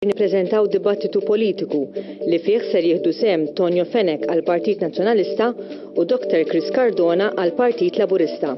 Nippreżentaw dibattitu politiku li fih ser jieħdu sehem Tonio Fenech għall-Partit Nazzjonalista u Dr Chris Cardona għall-Partit Laburista.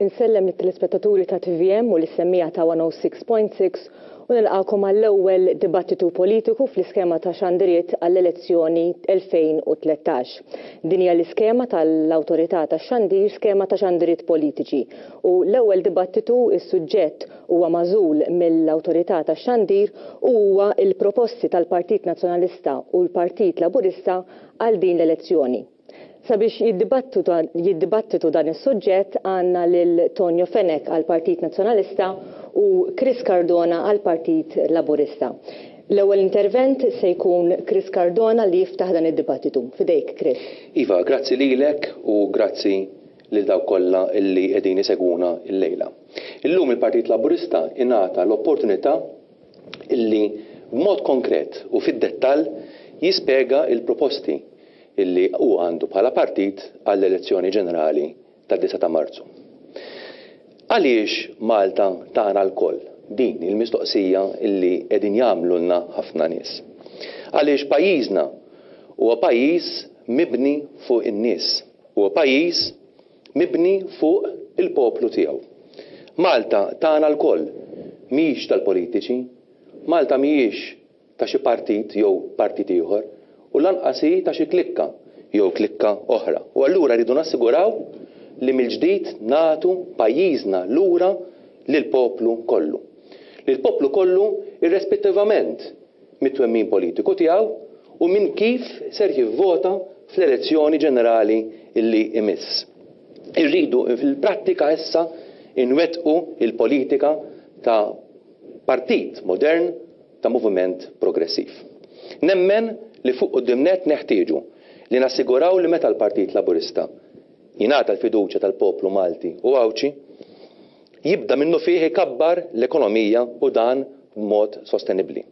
Insellem lit-telespettaturi ta' tvm u lis-semmiegħa ta' 106.6 u nilqagħkom għall-ewwel dibattitu politiku fl-iskema ta' xandiriet għall-elezzjoni 2013. Din hija l-iskema tal-Awtorità tax-Xandir skema ta' xandiriet politiċi u l-ewwel dibattitu is-suġġett huwa magħżul mill-Awtorità tax-Xandir u huwa l-proposti tal-Partit Nazzjonalista u l-Partit Laburista għal din l-elezzjoni. Sabiex jiddibattitu dan is-suġġett għandna lil Tonio Fenech għall-Partit Nazzjonalista u Chris Cardona għall-Partit Laburista. L-ewwel intervent se jkun Chris Cardona li jiftaħ dan id-dibattitu. F'idejk Chris. Iva, grazzi lilek u grazzi lil dawk kollha li qegħdin isegwuna llejla. Illum il-Partit Laburista ingħata l-opportunità illi b'mod konkret u fid-dettall jispjega l-proposti illi hu għandu bħala partit għall-elezzjoni ġenerali tad-disgħa ta' Marzu. Għaliex Malta tagħna lkoll? Din hi l-mistoqsija illi qegħdin jagħmlulna ħafna nies. Għaliex pajjiżna huwa pajjiż mibni fuq in-nies. Huwa pajjiż mibni fuq il-poplu tiegħu. Malta tagħna lkoll, mhijiex tal-politiċi. Malta mhijiex ta' xi partit jew partit ieħor u lanqas hi ta' xi klikka jew klikka oħra. U allura rridu nassiguraw li mill-ġdid nagħtu pajjiżna lura lill-poplu kollu. Lill-poplu kollu irrespettivament mit-twemmin politiku tiegħu u minn kif ser jivvota fl-elezzjoni ġenerali li jmiss. Irridu fil-prattika issa nwettqu l-politika ta' partit modern ta' moviment progressiv. Nemmen li fuq quddiem nett neħtieġu li nassiguraw li meta l-Partit Laburista jingħata l-fiduċja tal-poplu Malti u Għawdxi, jibda minnufih ikabbar l-ekonomija u dan b'mod sostenibbli.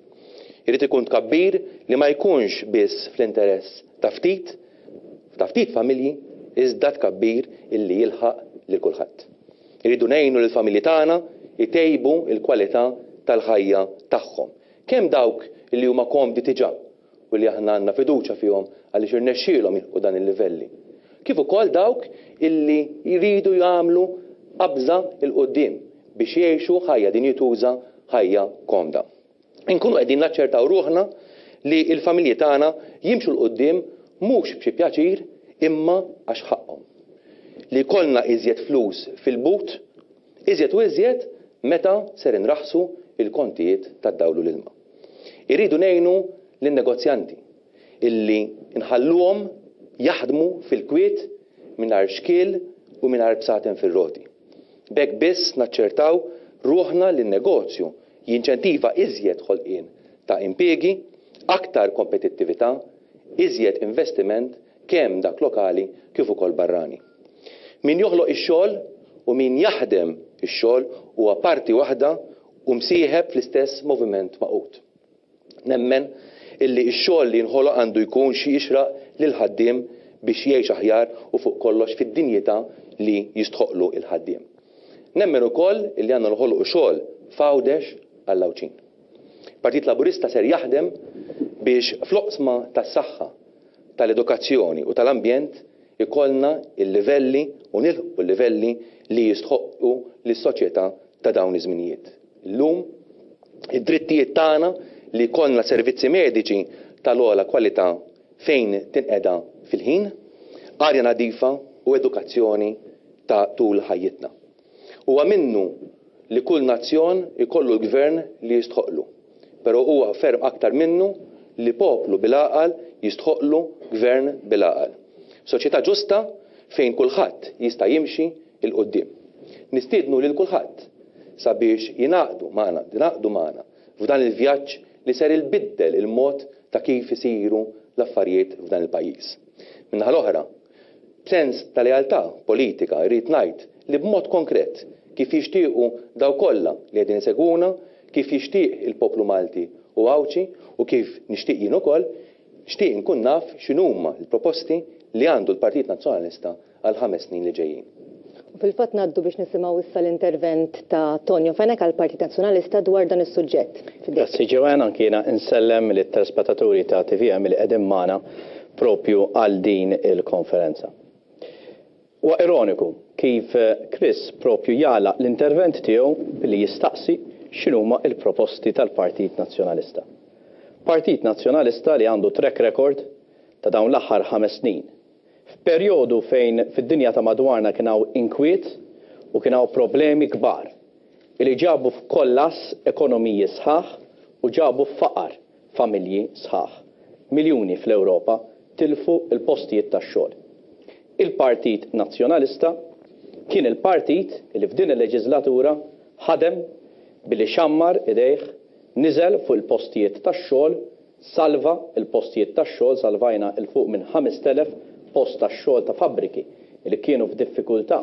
Irid ikun tkabbir li ma jkunx biss fl-interess ta' ftit, ta' ftit familji, iżda tkabbir illi jilħaq lil kulħadd. Irridu ngħinu lill-familji tagħna jtejbu l-kwalità tal-ħajja tagħhom, kemm dawk li huma komdi diġà u li aħna għandna fiduċja fihom għaliex irnexxielhom jilħqu dan il-livelli, kif ukoll dawk illi jridu jagħmlu qabża 'l quddiem biex jgħixu ħajja dinjituża, ħajja komda. Inkunu qegħdin naċċertaw ruħna li l-familji tagħna jimxu 'l quddiem mhux b'xi pjaċir imma għax ħaqqhom. Li jkollna iżjed flus fil-but, iżjed u iżjed meta ser inraħħsu l-kontijiet tad-dawl u l-ilma. Irridu ngħinu lin-negozjanti illi nħalluhom jaħdmu fil-kwiet mingħajr xkiel u mingħajr bsaten fir-roti. B'hekk biss naċċertaw ruħna li n-negozju jinċentiva iżjed ħolqien ta' impiegi, aktar kompetittività, iżjed investiment kemm dak lokali kif ukoll barrani. Min joħloq ix-xogħol u min jaħdem ix-xogħol huwa parti waħda u msieħeb fl-istess moviment magħqud. Nemmen illi x-xogħol li jinħoloq għandu jkun xi jixraq lill-ħaddiem biex jgħix aħjar u fuq kollox fid-dinjità li jistħoqqlu l-ħaddiem. Nemmen ukoll illi għandna noħolqu xogħol f'Għawdex għall-Għawdxin. Partit Laburista ser jaħdem biex fl-oqsma tas-saħħa, tal-edukazzjoni u tal-ambjent ikollna l-livelli u nilħqu l-livelli li jistħoqqu lis-soċjetà ta' dawn iż-żminijiet. Illum, id-drittijiet tagħna li jkollna servizzi mediċi tal-ogħla kwalità fejn tinqeda fil-ħin, arja nadifa u edukazzjoni ta' tul ħajjitna. Huwa minnu li kull nazzjon ikollu l-gvern li jistħoqqlu, però huwa ferm aktar minnu li poplu bil-għaqal jistħoqqlu gvern bil-għaqal. Soċjetà ġusta fejn kulħadd jista' jimxi 'l quddiem. Nistiednu lil kulħadd sabiex jingħaqdu magħna, tingħaqdu magħna f'dan il-vjaġġ li ser ilbiddel il-mod ta' kif isiru l-affarijiet f'dan il-pajjiż. Min-naħa l-oħra, b'sens ta' lealtà politika rrid ngħid li b'mod konkret. kif jixtiequ dawk kollha li qegħdin isegwuna, kif jixtieq il-poplu Malti u Għawdxi u kif nixtieq jien ukoll, nixtieq inkun naf x'inhuma l-proposti li għandu l-Partit Nazzjonalista għall-ħames snin li ġejjin. U fil-fatt ngħaddu biex nisimgħu issa l-intervent ta' Tonio Fenech għall-Partit Nazzjonalista dwar dan is-suġġett. F'idejk. Grazzi Joanne, anki jiena insellem lit-telespettaturi ta' tvm li qegħdin magħna propju għal din il-konferenza. Huwa ironiku kif Chris propju jagħlaq l-intervent tiegħu billi jistaqsi x'inhuma l-proposti tal-Partit Nazzjonalista. Partit Nazzjonalista li għandu track record ta' dawn l-aħħar ħames snin F'perjodu fejn fid-dinja ta' madwarna kien hawn inkwiet u kien hawn problemi kbar li ġabu f'kollass ekonomiji sħaħ u ġabu f'faqar familji sħaħ, miljuni fl-Ewropa tilfu l-postijiet tax-xogħol. Il-Partit Nazzjonalista kien il-partit li f'din il-leġiżlatura ħadem billi xammar idejh, niżel fuq il-postijiet tax-xogħol, Salva l-postijiet tax-xogħol, salvajna 'l fuq minn 5,000 post tax-xogħol ta' fabbriki li kienu f'diffikultà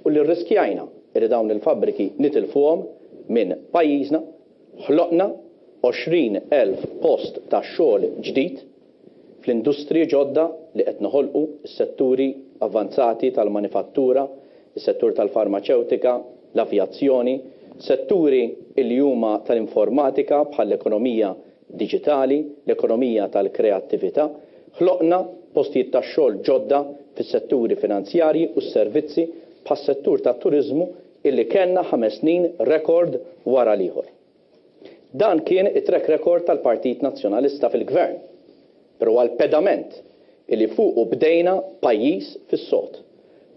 u li rriskjajna li dawn il-fabbriki nitilfuhom minn pajjiżna, ħloqna 20,000 post ta' xogħol ġdid fl-industriji ġodda li qed noħolqu, is-setturi avvanzati tal-manifattura, is-settur tal-farmaċewtika, l-avjazzjoni, setturi li huma tal-informatika bħall-ekonomija diġitali, l-ekonomija tal-kreattività, ħloqna postijiet tax-xogħol ġodda fis-setturi finanzjarji u s-servizzi bħas-settur tat-turiżmu illi kellna ħames snin rekord wara l-ieħor. Dan kien it-track record tal-Partit Nazzjonalista fil-Gvern, però huwa l-pedament illi fuqu bdejna pajjiż fis-sod.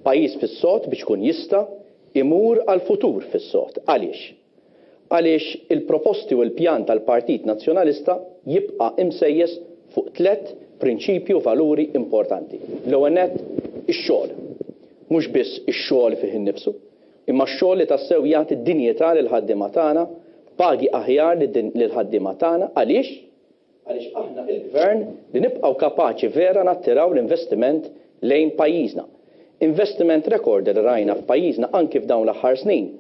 Pajjiż fis-sod biex ikun jista' imur għall-futur fis-sod. Għaliex? Għaliex il-proposti u l-pjan tal-Partit Nazzjonalista jibqa' imsejjes fuq tlett prinċipji u valuri importanti. L-ewwel nett, ix-xogħol. Mhux biss ix-xogħol fih innifsu, imma x-xogħol li tassew jagħti dinjità lill-ħaddiema tagħna, pagi aħjar lill-ħaddiema tagħna. Għaliex? Għaliex aħna il-Gvern li nibqgħu kapaċi vera nattiraw l-investiment lejn pajjiżna. Investiment rekord li rajna f'pajjiżna anki f'dawn l-aħħar snin,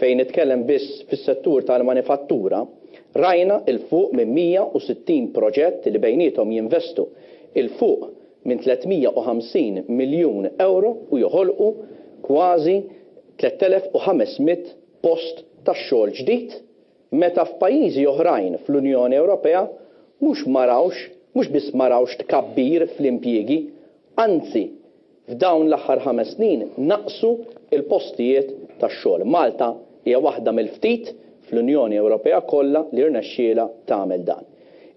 fejn nitkellem biss fis-settur tal-manifattura, rajna 'l fuq minn 160 proġett li bejniethom jinvestu 'l fuq minn 350 miljun ewro u joħolqu kważi 3,500 post tax-xogħol ġdid Meta f'pajjiżi oħrajn fl-Unjoni Ewropea mhux ma rawx, mhux biss ma rawx tkabbir fl-impjiegi, anzi f'dawn l-aħħar ħames snin naqsu l-postijiet tax-xogħol. Malta hija waħda mill-ftit fl-Unjoni Ewropea kollha li rnexxielha tagħmel dan.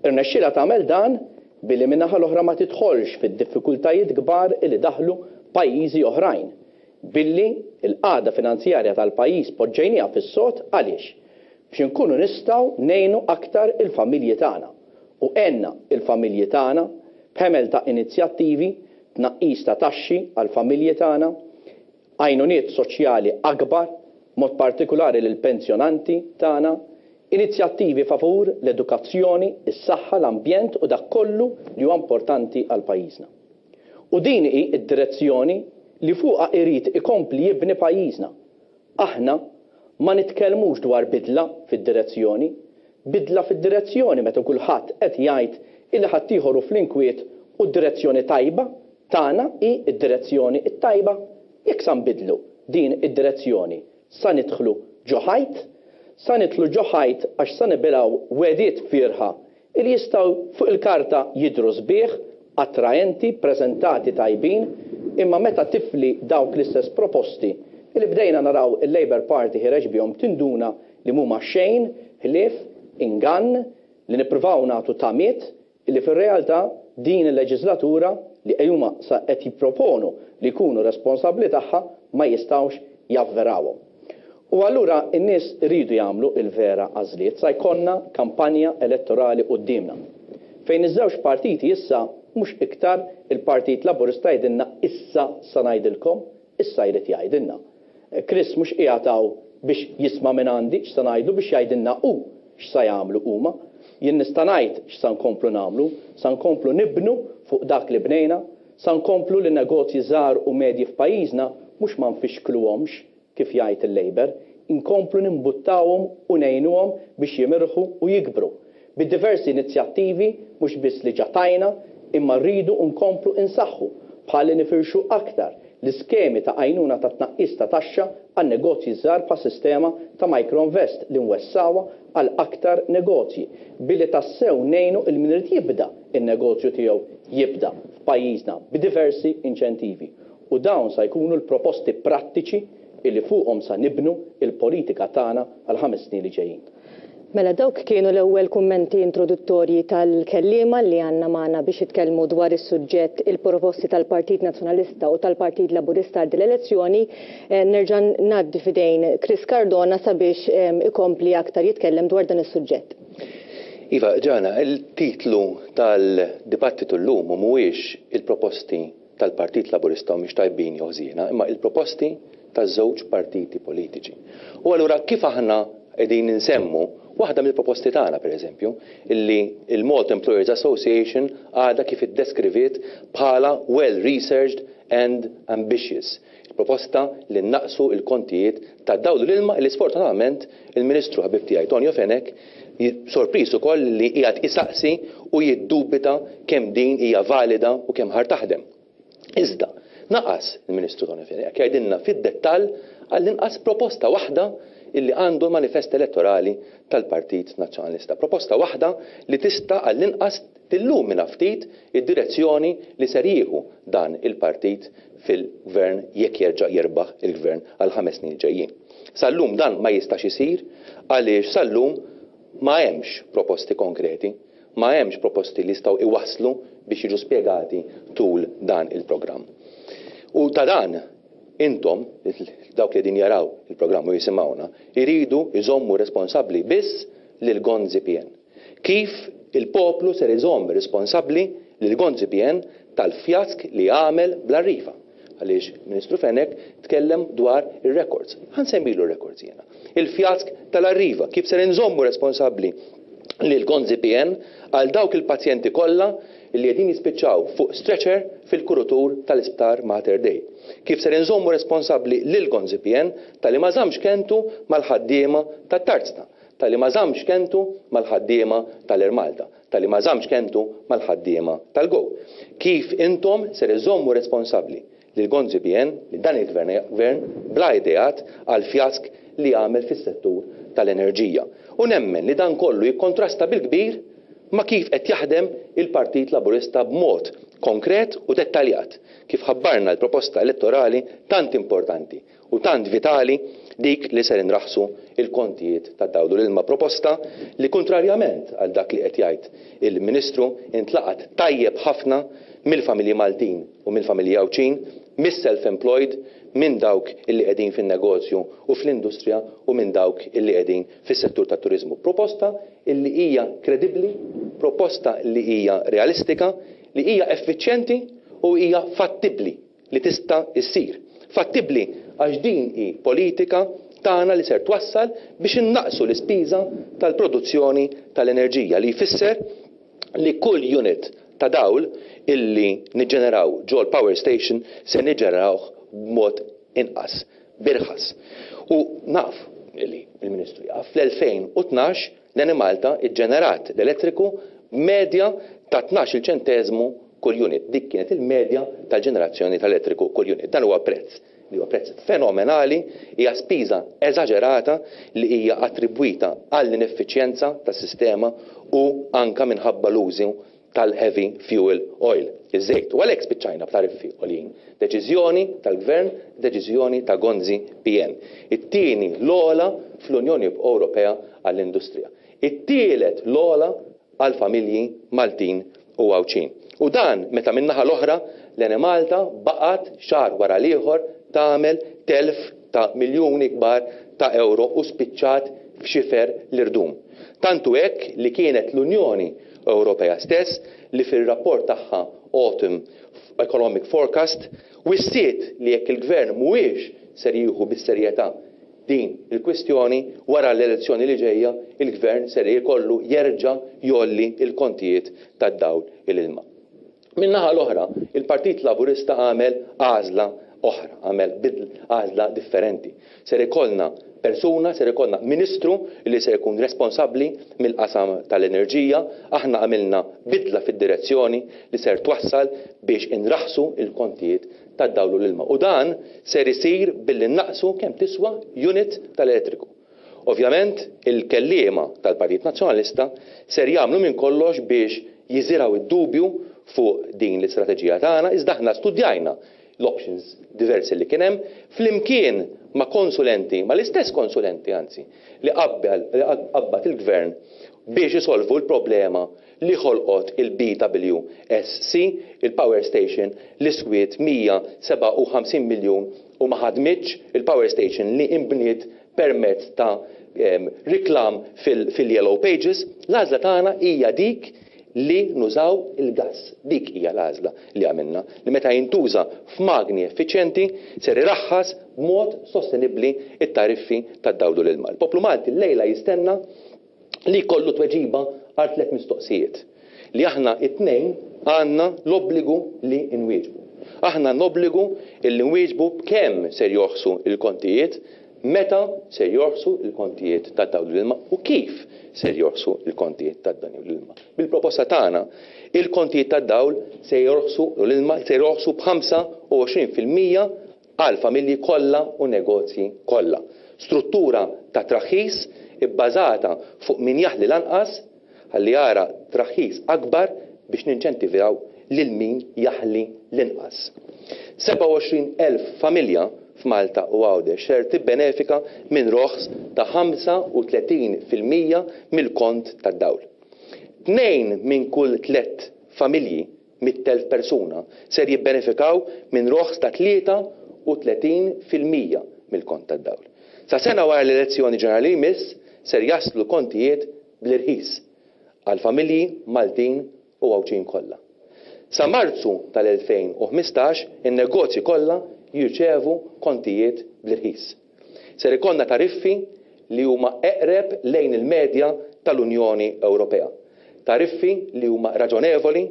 Irnexxielha tagħmel dan billi min-naħa l-oħra ma tidħolx fid-diffikultajiet kbar li daħlu pajjiżi oħrajn. Billi l-qagħda finanzjarja tal-pajjiż poġġejniha fis-sod għaliex? Biex inkunu nistgħu ngħinu aktar il-familji tagħna. U għenna il-familji tagħna b'ħemel ta' inizjattivi, tnaqqis ta' taxxi għall-familji tagħna, għajnuniet soċjali akbar, b'mod partikulari lill-pensjonanti tagħna, inizjattivi favur l-edukazzjoni, is-saħħa, l-ambjent u dak kollu li huwa importanti għal pajjiżna. U din hi d-direzzjoni li fuqha irid ikompli jibni pajjiżna. Aħna ma nitkellmux dwar bidla fid-direzzjoni. Bidla fid-direzzjoni meta kulħadd qed jgħid illi ħaddieħor hu fl-inkwiet u d-direzzjoni tajba tagħna hi d-direzzjoni t-tajba. Jekk sa nbiddlu din id-direzzjoni sa nidħlu ġo ħajt. Sa nidħlu ġo ħajt għax sa nibilgħu wegħdiet fierħa Li jistgħu fuq il-karta jidhru sbieħ, attraenti, preżentati tajbin, imma meta tifli dawk l-istess proposti li bdejna naraw il-Labour Party ħiereġ bihom tinduna li mhuma xejn ħlief ingann li nippruvaw nagħtu tamiet li fir-realtà din il-leġiżlatura li huma sa qed jipproponu li jkunu responsabbli tagħha ma jistgħux javverawhom. U allura n-nies iridu jagħmlu l-vera għażliet. Sa jkollna kampanja elettorali quddiemna. Fejn iż-żewġ partiti issa mhux iktar il-Partit Laburista jgħidilna issa sa ngħidilkom, issa jrid jgħidilna. Chris mhux qiegħed hawn biex jisma' mingħandi x'sa ngħidlu biex jgħidilna hu x'sa jagħmlu huma. Jien nista' ngħid x'sa nkomplu nagħmlu, sa nkomplu nibnu fuq dak li bnejna, sa nkomplu li negozji żgħar u medji f'pajjiżna mhux ma nfixkluhomx, kif jgħid il-Labour, nkomplu nimbuttawhom u ngħinuhom biex jimirħu u jikbru bid-diversi inizjattivi mhux biss li ġa tajna imma rridu nkomplu insaħħu bħal li nifirxu aktar l-iskemi ta' għajnuna ta' tnaqqis ta' taxxa għan-negozji ż-żgħar bħas-sistema ta' Microinvest li nwessgħuha għal aktar negozji billi tassew ngħinu 'l min irid jibda n-negozju tiegħu jibda f'pajjiżna b'diversi inċentivi u dawn sa jkunu l-proposti prattiċi illi fuqhom sa nibnu l-politika tagħna għall-ħames snin li ġejjin. Mela dawk kienu l-ewwel kummenti introduttorji tal-kelliema li għandna magħna biex jitkellmu dwar is-suġġett il-proposti tal-Partit Nazzjonalista u tal-Partit Laburista għal din l-elezzjoni. Nerġa' ngħaddi f'idejn Chris Cardona sabiex ikompli aktar jitkellem dwar dan is-suġġett. Iva, Ġana, il-titlu tal-dibattitu llum mhuwiex il-proposti tal-Partit Laburista humiex tajbin jew ħżiena, imma il-proposti taż-żewġ partiti politiċi. U allura kif aħna qegħdin insemmu waħda mill-proposti tagħna pereżempju, illi l-Malta Employers Association għadha kif iddeskriviet bħala well researched and ambitious, il-proposta li nnaqqsu l-kontijiet tad-dawl u l-ilma illi sfortunatament il-Ministru ħabib tiegħi Tonio Fenech sorpriż ukoll li qiegħed isaqsi u jiddubita kemm din hija valida u kemm ħar taħdem. Iżda, naqas il-Ministru Tony Fenech jgħidilna fid-dettall għall-inqas proposta waħda illi għandu l-manifest elettorali tal-Partit Nazzjonalista. Proposta waħda li tista' għall-inqas tillumina ftit id-direzzjoni li ser jieħu dan il-partit fil-Gvern jekk jerġa' jirbaħ il-Gvern għall-ħames snin li ġejjin. Sal-lum dan ma jistax isir għaliex sal-lum ma hemmx proposti konkreti, ma hemmx proposti li jistgħu iwasslu biex jiġu spjegati tul dan il-programm. U ta' dan intom, dawk li qegħdin jaraw il-programm u jisimgħuna, iridu jżommu responsabbli biss lil Gonzi PN. Kif il-poplu ser iżomm responsabbli lil Gonzi PN tal-fjask li għamel bl-Arriva? Għaliex il-Ministru Fenech tkellem dwar ir-records. Ħa nsemmilu r-records jiena. Il-fjask tal-Arriva, kif ser inżommu responsabbli lil Gonzi PN għal dawk il-pazjenti kollha li qegħdin jispiċċaw fuq stretcher fil-kurutur tal-Isptar Mater Dei? Kif ser inżommu responsabbli lil Gonzi PN talli ma żammx kelmtu mal-ħaddiema tat-Tarzna? Talli ma żammx kelmtu mal-ħaddiema tal-Air Malta, talli ma żammx kelmtu mal-ħaddiema tal-Go. Kif intom ser iżżommu responsabbli lil Gonzi PN, lil dan il-Gvern gvern bla ideat għall-fjask li għamel fis-settur tal-enerġija. U nemmen li dan kollu jikkontrasta bil-kbir ma' kif qed jaħdem il-Partit Laburista b'mod konkret u dettaljat, kif ħabbarna l-proposta elettorali tant importanti u tant vitali dik li ser inraħħsu l-kontijiet tad-dawl u l-ilma proposta li kuntrarjament għal dak li qed jgħid il-Ministru intlaqgħet tajjeb ħafna mill-familji Maltin u mill-familji Għawdxin, mis-self employed, minn dawk illi qegħdin fin-negozju u fl-industrija u minn dawk illi qegħdin fis-settur tat-turiżmu. Proposta illi hija kredibbli, proposta li hija realistika, li hija effiċjenti u hija fattibbli. li tista' ssir. Fattibbli għax din hi politika tagħna li ser twassal biex innaqqsu l-ispiża tal-produzzjoni tal-enerġija li jfisser li kull unit ta' dawl illi niġġeneraw ġol-power station se niġġenerawh b'mod inqas, b'irħas. U naf li l-Ministru jaf, fl-2012 l-Enemalta ġġenerat l-elettriku b'medja ta' 12-il ċenteżmu kull unit. Dik kienet il-medja tal-ġenerazzjoni tal-elettriku kull unit. Dan huwa prezz li huwa prezz fenomenali, hija spiża eżaġerata li hija attribwita għall-ineffiċjenza tas-sistema u anke minħabba l-użu tal-heavy fuel oil, iż-żejt. U għalhekk spiċċajna b'tariffi għoljin. Deċiżjoni tal-Gvern, deċiżjoni ta' Gonzi PN. It-tieni l-ogħla fl-Unjoni Ewropea għall-industrija. It-tielet l-ogħla għall-familji Maltin u Għawdxin. U dan meta min-naħa l-oħra l-Enemalta baqgħet xahar wara l-ieħor tagħmel telf ta' miljuni kbar ta' ewro u spiċċat f'xifer l-irdum. Tant hu hekk li kienet l-Unjoni Ewropea stess li fir-rapport tagħha Autumn Economic Forecast wissiet li jekk il-Gvern mhuwiex ser jieħu bis-serjetà din il-kwistjoni, wara l-elezzjoni li ġejja, il-Gvern ser ikollu jerġa' jgħolli l-kontijiet tad-dawl u l-ilma. Min-naħa l-oħra, il-Partit Laburista għamel għażla oħra, għamel għażla differenti. Ser ikollna persuna, ser ikollna Ministru li ser ikun responsabbli mill-qasam tal-enerġija. Aħna għamilna bidla fid-direzzjoni li ser twassal biex inraħħsu l-kontijiet tad-dawl u l-ilma. U dan ser isir billi nnaqqsu kemm tiswa unit tal-elettriku. Ovvjament, il-kelliema tal-Partit Nazzjonalista ser jagħmlu minn kollox biex jiżirgħu d-dubju fuq din l-istrateġija tagħna, iżda aħna studjajna l-options diversi li kien hemm, flimkien ma' konsulenti, mal-istess konsulenti anzi, li qabbel, li qabbad il-Gvern biex isolvu l-problema li ħolqot il-BWSC, il-power station li swiet 157 miljun u ma ħadmitx, il-power station li inbniet permezz ta' riklam fil-yellow pages. L-għażla tagħna hija dik li nużaw il-gass. Dik hija l-għażla li għamilna, li meta jintuża f'magni effiċjenti ser iraħħas b'mod sostenibbli t-tariffi tad-dawl u l-ilma. Il-poplu Malti llejla jistenna li jkollu tweġiba għal tlett mistoqsijiet li aħna t-tnejn għandna l-obbligu li nwieġbu. Aħna għandna obbligu li nwieġbu b'kemm ser jorħsu l-kontijiet, meta ser jorħsu l-kontijiet tad-dawl u l-ilma u kif ser jorħsu l-kontijiet tad-dawl u l-ilma. Bil-proposta tagħna, il-kontijiet tad-dawl se jorħsu u l-ilma se jorħsu b'25% għall-familji kollha u negozji kollha. Struttura ta' traħħis ibbażata fuq min jaħli l-anqas ħalli jara traħħis akbar biex ninċentivaw lil min jaħli l-inqas. 27,000 familja f'Malta u Għawdex ser tibbenefika minn roħs ta' 35% mill-kont tad-dawl. Tnejn minn kull tlett familji 100,000 persuna ser jibbenefikaw minn roħs ta' 33% mill-kont tad-dawl. Sa sena wara l-elezzjoni ġenerali li jmiss ser jaslu kontijiet bl-irħis għall-familji Maltin u Għawdxin kollha. Sa Marzu tal-2015 in-negozji kollha jirċevu kontijiet bl-irħis. Ser ikollna tariffi li huma eqreb lejn il-medja tal-Unjoni Ewropea. Tariffi li huma raġonevoli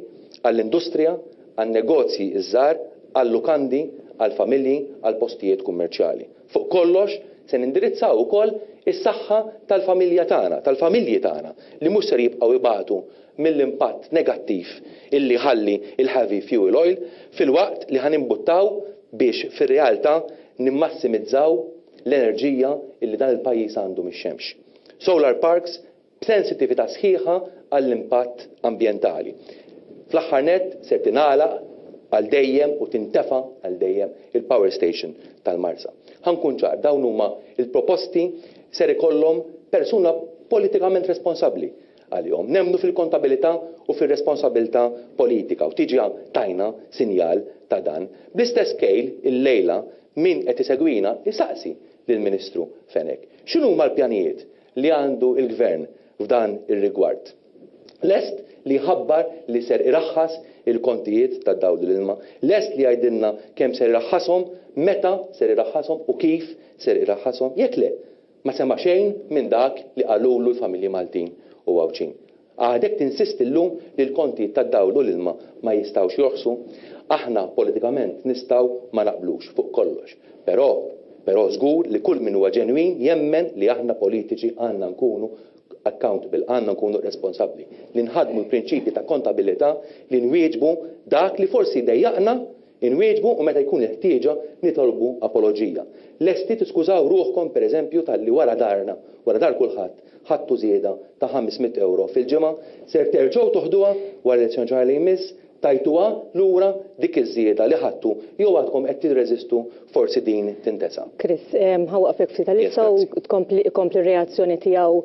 għall-industrija, għan-negozji ż-żgħar, għal-lukandi, għall-familji, għall-postijiet kummerċjali. Fuq kollox, se nindirizzaw ukoll is-saħħa tal-familja tagħna, tal-familji tagħna li mhux ser jibqgħu jbatu mill-impatt negattiv illi jħalli l-heavy fuel oil filwaqt li ħa nimbuttaw biex fir-realtà nimmassimizzaw l-enerġija illi dan il-pajjiż għandu mix-xemx. Solar parks b'sensittività sħiħa għall-impatt ambjentali. Fl-aħħar nett ser tingħalaq għal dejjem u tintefa' għal dejjem il-power station tal-Marsa. Ħa nkun ċar, dawn huma l-proposti ser ikollhom persuna politikament responsabbli għalihom. Nemmnu fil-kontabilità u fir-responsabilità politika u diġà tajna sinjal ta' dan. Bl-istess kejl, illejla, min qed isegwina jsaqsi lill-Ministru Fenech x'inhuma l-pjanijiet li għandu l-Gvern f'dan ir-rigward. Lest li jħabbar li ser iraħħas il-kontijiet tad-dawl u l-ilma? Lest li jgħidilna kemm ser iraħħashom, meta ser iraħħashom u kif ser iraħħashom? Jekk le, Ma sema' xejn minn dak li qalulu l-familji Maltin u Għawdxin. Għadek tinsisti llum li l-kontijiet tad-dawl u l-ilma ma jistgħux jorħsu? Aħna politikament nistgħu ma naqblux fuq kollox. Però, però żgur li kull min huwa ġenwin jemmen li aħna politiċi għandna nkunu accountable, għandna nkunu responsabbli, li nħaddmu l-prinċipji ta' kontabilità, li nwieġbu dak li forsi jdejjaqna Inwieġbu u meta jkun il-ħtieġa nitolbu apoloġija. Lesti tiskużaw ruħkom per eżempju talli wara darna, wara dar kulħadd, ħadtu żieda ta' 500 ewro fil-ġimgħa? Ser terġgħu toħduha wara l-elezzjoni ġenerali li jmiss? Tajtuha lura dik iż-żieda li ħadtu jew għadkom qed tirreżistu forsi din tintesa'? Chris, ħa waqfek ftit għalissa u tkompli ikompli r-reazzjoni tiegħu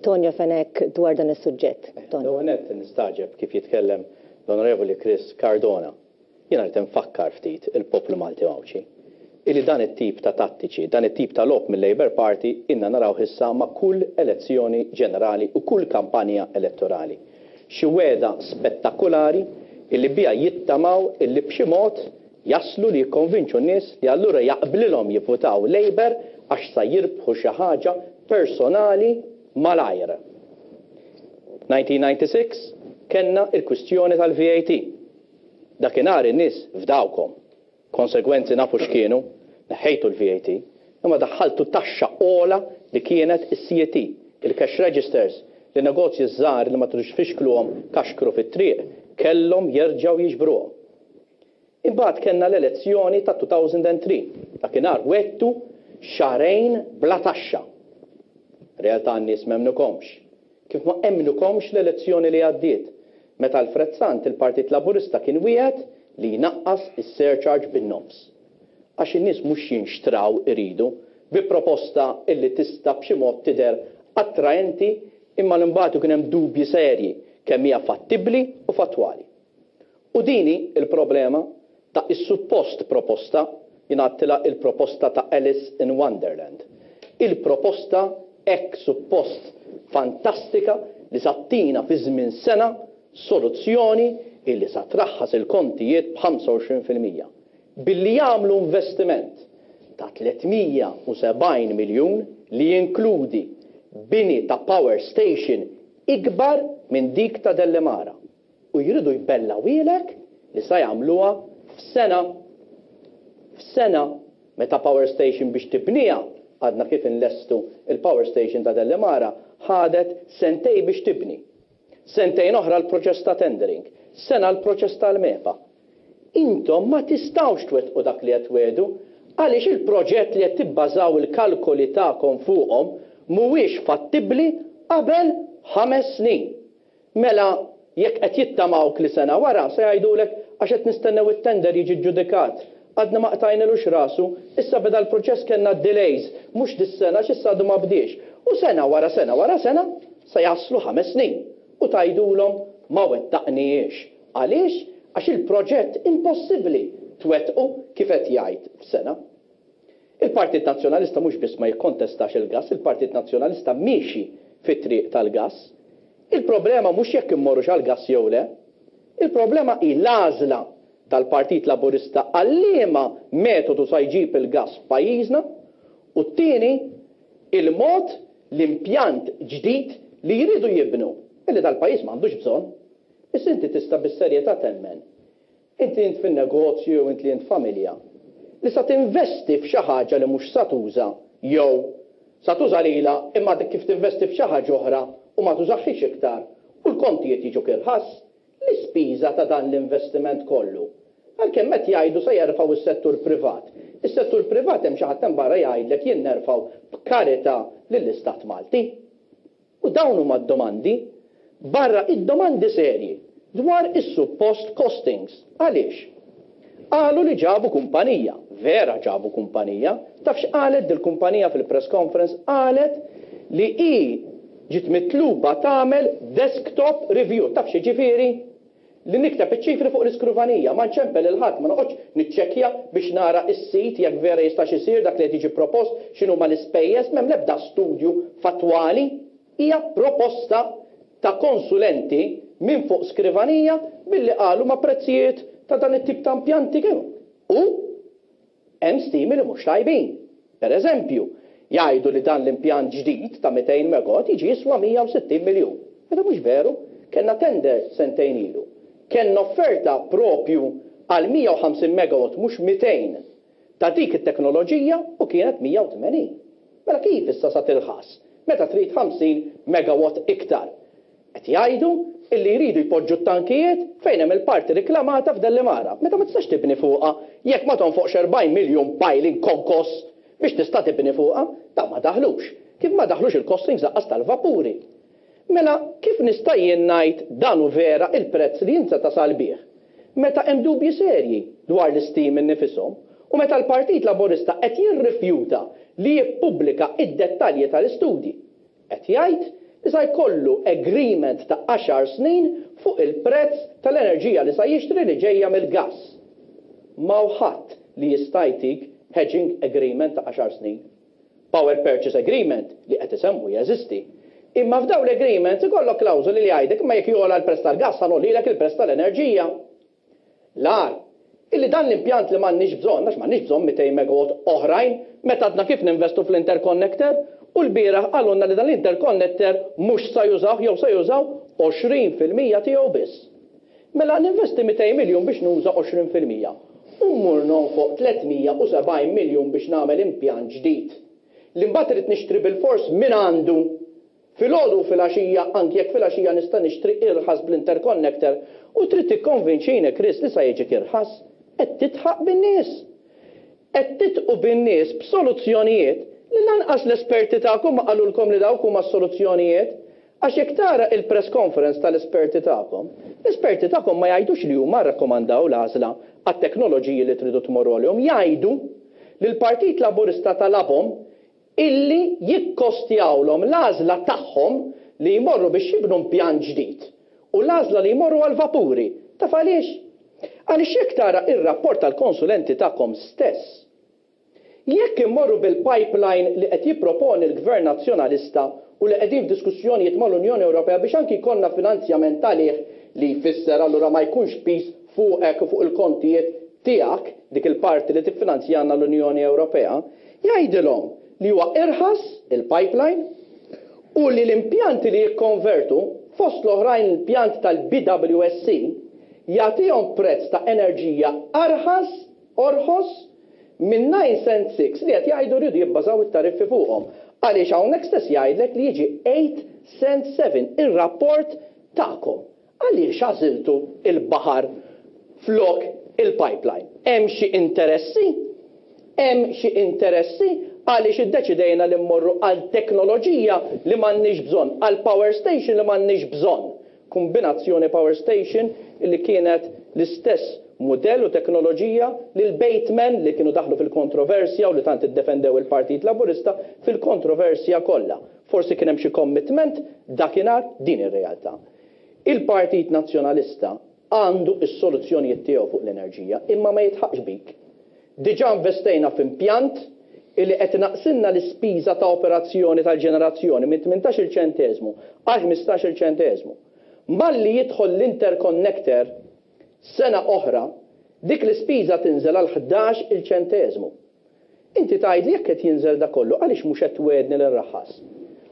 Tonio Fenech dwar dan is-suġġett. Tonio. L-ewwel nett nistagħġeb kif jitkellem l-Onorevoli Chris Cardona. Jiena rrid infakkar ftit il-poplu Malti u Għawdxi illi dan it-tip ta' tattiċi, dan it-tip ta' logħob mil-Labour Party ilna narawh issa ma' kull elezzjoni ġenerali u kull kampanja elettorali. Xi wegħda spettakulari illi biha jittamaw illi b'xi mod jaslu li jikkonvinċu n-nies li allura jaqblilhom jivvutaw Labour għax sa jirbħu xi ħaġa personali malajr. 1996 kellna l-kwistjoni tal-VAT. Dakinhar in-nies fdawkom. Konsegwenzi nafu x'kienu, neħħejtu l-VAT, imma daħħaltu taxxa ogħla li kienet is-CET, il-cash registers li negozji żgħar li ma tridux tfixkluhom kaxkru fit-triq kellhom jerġgħu jiġbruhom. Imbagħad kellna l-elezzjoni ta' 2003, dakinhar wegħdtu xahrejn bla taxxa. Realtà n-nies m'emmnukomx. Kif ma emmnukomx l-elezzjoni li għaddiet, meta Alfred Sant il-Partit Laburista kien wiegħed li jnaqqas is-surcharge bin-nofs. Għax in-nies mhux jinxtraw iridu bi proposta illi tista' b'xi mod tidher attraenti imma li mbagħad ikun hemm dubji serji kemm hija fattibbli u fattwali. U din hi l-problema ta' is-suppost proposta, jien għadtilha il-proposta ta' Alice in Wonderland. Il-proposta hekk suppost fantastika li sa ttina fi żmien sena soluzzjoni illi sa traħħas il-kontijiet b'25%. Billi jagħmlu investiment ta' 370 miljun li jinkludi bini ta' power station ikbar minn dik ta' Dellimara. U jridu jbellgħuhielek li sa jagħmluha f'sena. F'sena. Meta power station biex tibniha, għadna kif inlestu il-power station ta' Dellimara, ħadet sentejn biex tibni. Sentejn oħra l-proċess ta' tendering. Sena l-proċess tal-MEPA. Intom ma tistgħux twettqu dak li qed twiegħdu għaliex il-proġett li qed tibbażaw il-kalkoli tagħkom fuqhom mhuwiex fattibbli qabel ħames snin. Mela jekk qed jittamawk li sena wara se jgħidulek għax qed nistennew it-tender jiġi ġġudikat, għadna ma qtajnilux rasu, issa beda l-proċess kellna d-delays, mhux dis-sena għax issa għadu ma bdiex. U sena wara sena wara sena se jaslu ħames snin u tgħidulhom ma wettaqnihiex. Għaliex? Għax il-proġett impossibbli twettqu kif qed jgħid f'sena. Il-Partit Nazzjonalista mhux biss ma jikkontestax il-gass, il-Partit Nazzjonalista miexi fit-triq tal-gass. Il-problema mhux jekk immorrux għall-gass jew le. Il-problema hi l-għażla tal-Partit Laburista għal liema metodu sa jġib il-gass f'pajjiżna u t-tieni, il-mod l-impjant ġdid li jridu jibnu, illi dal-pajjiż m'għandux bżonn. Biss inti tista' bis-serjetà temmen Int li int fin-negozju jew int li int familja, li sa tinvesti f'xi ħaġa li mhux sa tuża jew sa tuża lilha imma għadek kif tinvesti f'xi ħaġa oħra u ma tużahiex iktar u l-kontijiet jiġuk irħas, l-ispiża ta' dan l-investiment kollu. Għalkemm qed jgħidu se jerfgħu s-settur privat. Is-settur privat hemm xi ħadd hemm barra jgħidlek jien nerfgħu b'karità lill-Istat Malti. U dawn huma d-domandi, barra id-domandi serji dwar is-suppost costings. Għaliex? Qalu li ġabu kumpanija. Vera ġabu kumpanija. Taf x'qalet dil-kumpanija fil-press conference? Qalet li hi ġiet mitluba tagħmel desktop review. Taf x'jiġifieri? Li nikteb iċ-ċifri fuq l-iskrivanija, ma nċempel lil ħadd, ma noqgħodx niċċekkja biex nara s-sit jekk vera jistax isir dak li qed jiġi propost, x'inhuma l-ispejjeż, m'hemm l-ebda studju fattwali. Hija proposta ta' konsulenti minn fuq skrivanija billi qalu ma' prezzijiet ta' dan it-tip ta' impjanti kemm u Hemm stimi li mhux tajbin. Per eżempju, jgħidu li dan l-impjant ġdid ta' 200 megawatt jiġi jiswa 160 miljun. Meta mhux veru. Kellna tender sentejn ilu. Kellna offerta proprju għal 150 megawatt mhux 200 ta' dik it-teknoloġija u kienet 180. Mela kif issa sa tilħas meta trid 50 megawatt iktar? Qed jgħidu illi jridu jpoġġu t-tankijiet fejn hemm il-parti riklamata f'Dellimara, meta ma tistax tibni fuqha jekk ma tonfoqx 40 miljun piling konkos biex tista' tibni fuqha. Dawn ma daħlux. Kif ma daħlux il-costings lanqas tal-vapuri. Mela kif nista' jien ngħid dan hu vera il-prezz li int se tasal bih meta hemm dubji serji dwar l-istimi nnifishom u meta l-Partit Laburista qed jirrifjuta li jippubblika id-dettalji tal-istudji? Qed jgħid li sa jkollu agreement ta' għaxar snin fuq il-prezz tal-enerġija li sa jixtri li ġejja mill-gass. M'hawn ħadd li jista' jtik hedging agreement ta' għaxar snin. Power purchase agreement li qed isemmu jeżisti. Imma f'dawn l-agreements ikollok klawżoli li jgħidek imma jekk jogħla l-prezz tal-gass ħa ngħollilek il-prezz tal-enerġija. L-agħar, illi dan l-impjant li m'għandniex bżonn, għax m'għandniex bżonn 200 megawatt oħrajn, meta għadna kif ninvestu fl-interconnector, u lbieraħ qalulna li dan l-interconnector mhux sa jużawh jew sa jużaw 20% tiegħu biss. Mela ninvesti 200 miljun biex nuża 20%. U mmur nonfoq 370 miljun biex nagħmel impjant ġdid, li mbagħad irrid nixtri bilfors mingħandu filgħodu u filgħaxija anki jekk filgħaxija nista' nixtri irħas bl-interconnector u trid tikkonvinċini Chris li sa jiġik irħas? Qed tidħaq bin-nies. Qed tidħqu bin-nies b'soluzzjonijiet li lanqas l-esperti tagħkom ma qalulkom li dawk huma s-soluzzjonijiet. Għax jekk tara il-press conference tal-esperti tagħkom, l-esperti tagħkom ma jgħidux li huma rrakkomandaw l-għażla għat-teknoloġiji li tridu tmorru għalihom, jgħidu li l-Partit Laburista talabhom illi jikkostjawlhom l-għażla tagħhom li jmorru biex jibnu impjant ġdid u l-għażla li jmorru għall-vapuri. Taf għaliex? Għaliex jekk tara ir-rapport tal-konsulenti tagħkom stess, Jekk immorru bil-pipeline li qed jipproponi l-Gvern Nazzjonalista u li qegħdin f'diskussjonijiet mal-Unjoni Ewropea biex anki jkollna finanzjament għalih li jfisser allura ma jkunx piż fuqek u fuq il-kontijiet tiegħek, dik il-parti li tiffinanzjalna l-Unjoni Ewropea, jgħidilhom li huwa irħas il-pipeline u li l-impjanti li jikkonvertu, fost l-oħrajn l-impjant tal-BWSC, jagħtihom prezz ta' enerġija arħas, orħos, minn 9.6 li qed jgħidu riedu jibbażaw it-tariffi fuqhom. Għaliex hawnhekk stess jgħidlek li jiġi 8.7 ir-rapport tagħkom. Għaliex għażiltu l-baħar flok il-pipeline? Hemm xi interessi? Hemm xi interessi għaliex iddeċidejna li mmorru għal teknoloġija li m'għandniex bżonn, għal power station li m'għandniex bżonn? Kombinazzjoni power station li kienet l-istess mudell u teknoloġija li l-Bateman li kienu daħlu fil-kontroversja u li tant iddefendew il-Partit Laburista fil-kontroversja kollha. Forsi kien hemm xi commitment dakinhar, din hi r-realtà. Il-Partit Nazzjonalista għandu s-soluzzjonijiet tiegħu fuq l-enerġija imma ma jidħaqx bik. Diġà investejna f'impjant illi qed inaqqsilna l-ispiża ta' operazzjoni tal-ġenerazzjoni minn 18-il ċenteżmu għal 15-il ċenteżmu. Malli jidħol l-interconnector sena oħra, dik l-ispiża tinżel għal 11-il ċenteżmu. Inti tgħidli jekk qed jinżel dak kollu għaliex mhux qed twegħedni li nraħħas?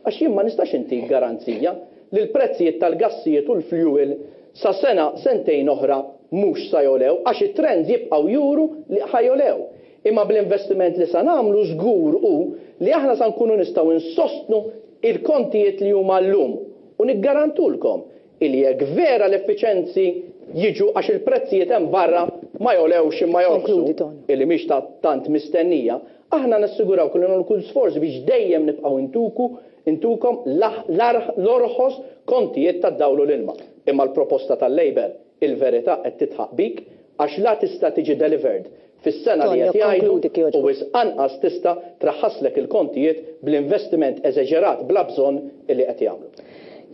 Għax jien ma nistax intik garanzija li l-prezzijiet tal-gassijiet u l-fjuwil sa sena, sentejn oħra mhux sa jogħlew għax it-trends jibqgħu juru li ħa jogħlew. Imma bl-investiment li sa nagħmlu żgur hu li aħna sa nkunu nistgħu nsostnu il-kontijiet li huma llum u niggarantulkom illi jekk vera l-effiċenzi jiġu għax il-prezzijiet hemm barra ma jogħlewx imma jorħsu, illi mhix ta' tant mistennija, aħna nassigurawk li nagħmlu kull sforz biex dejjem nibqgħu ntuku intukom l-orħos kontijiet tad-dawl u l-ilma. Imma l-proposta tal-Labour, il-verità qed tidħaq bik għax la tista' tiġi delivered fis-sena li qed jgħidu u wisq anqas tista' traħħaslek il-kontijiet bl-investiment eżeġerat bla bżonn illi qed jagħmlu.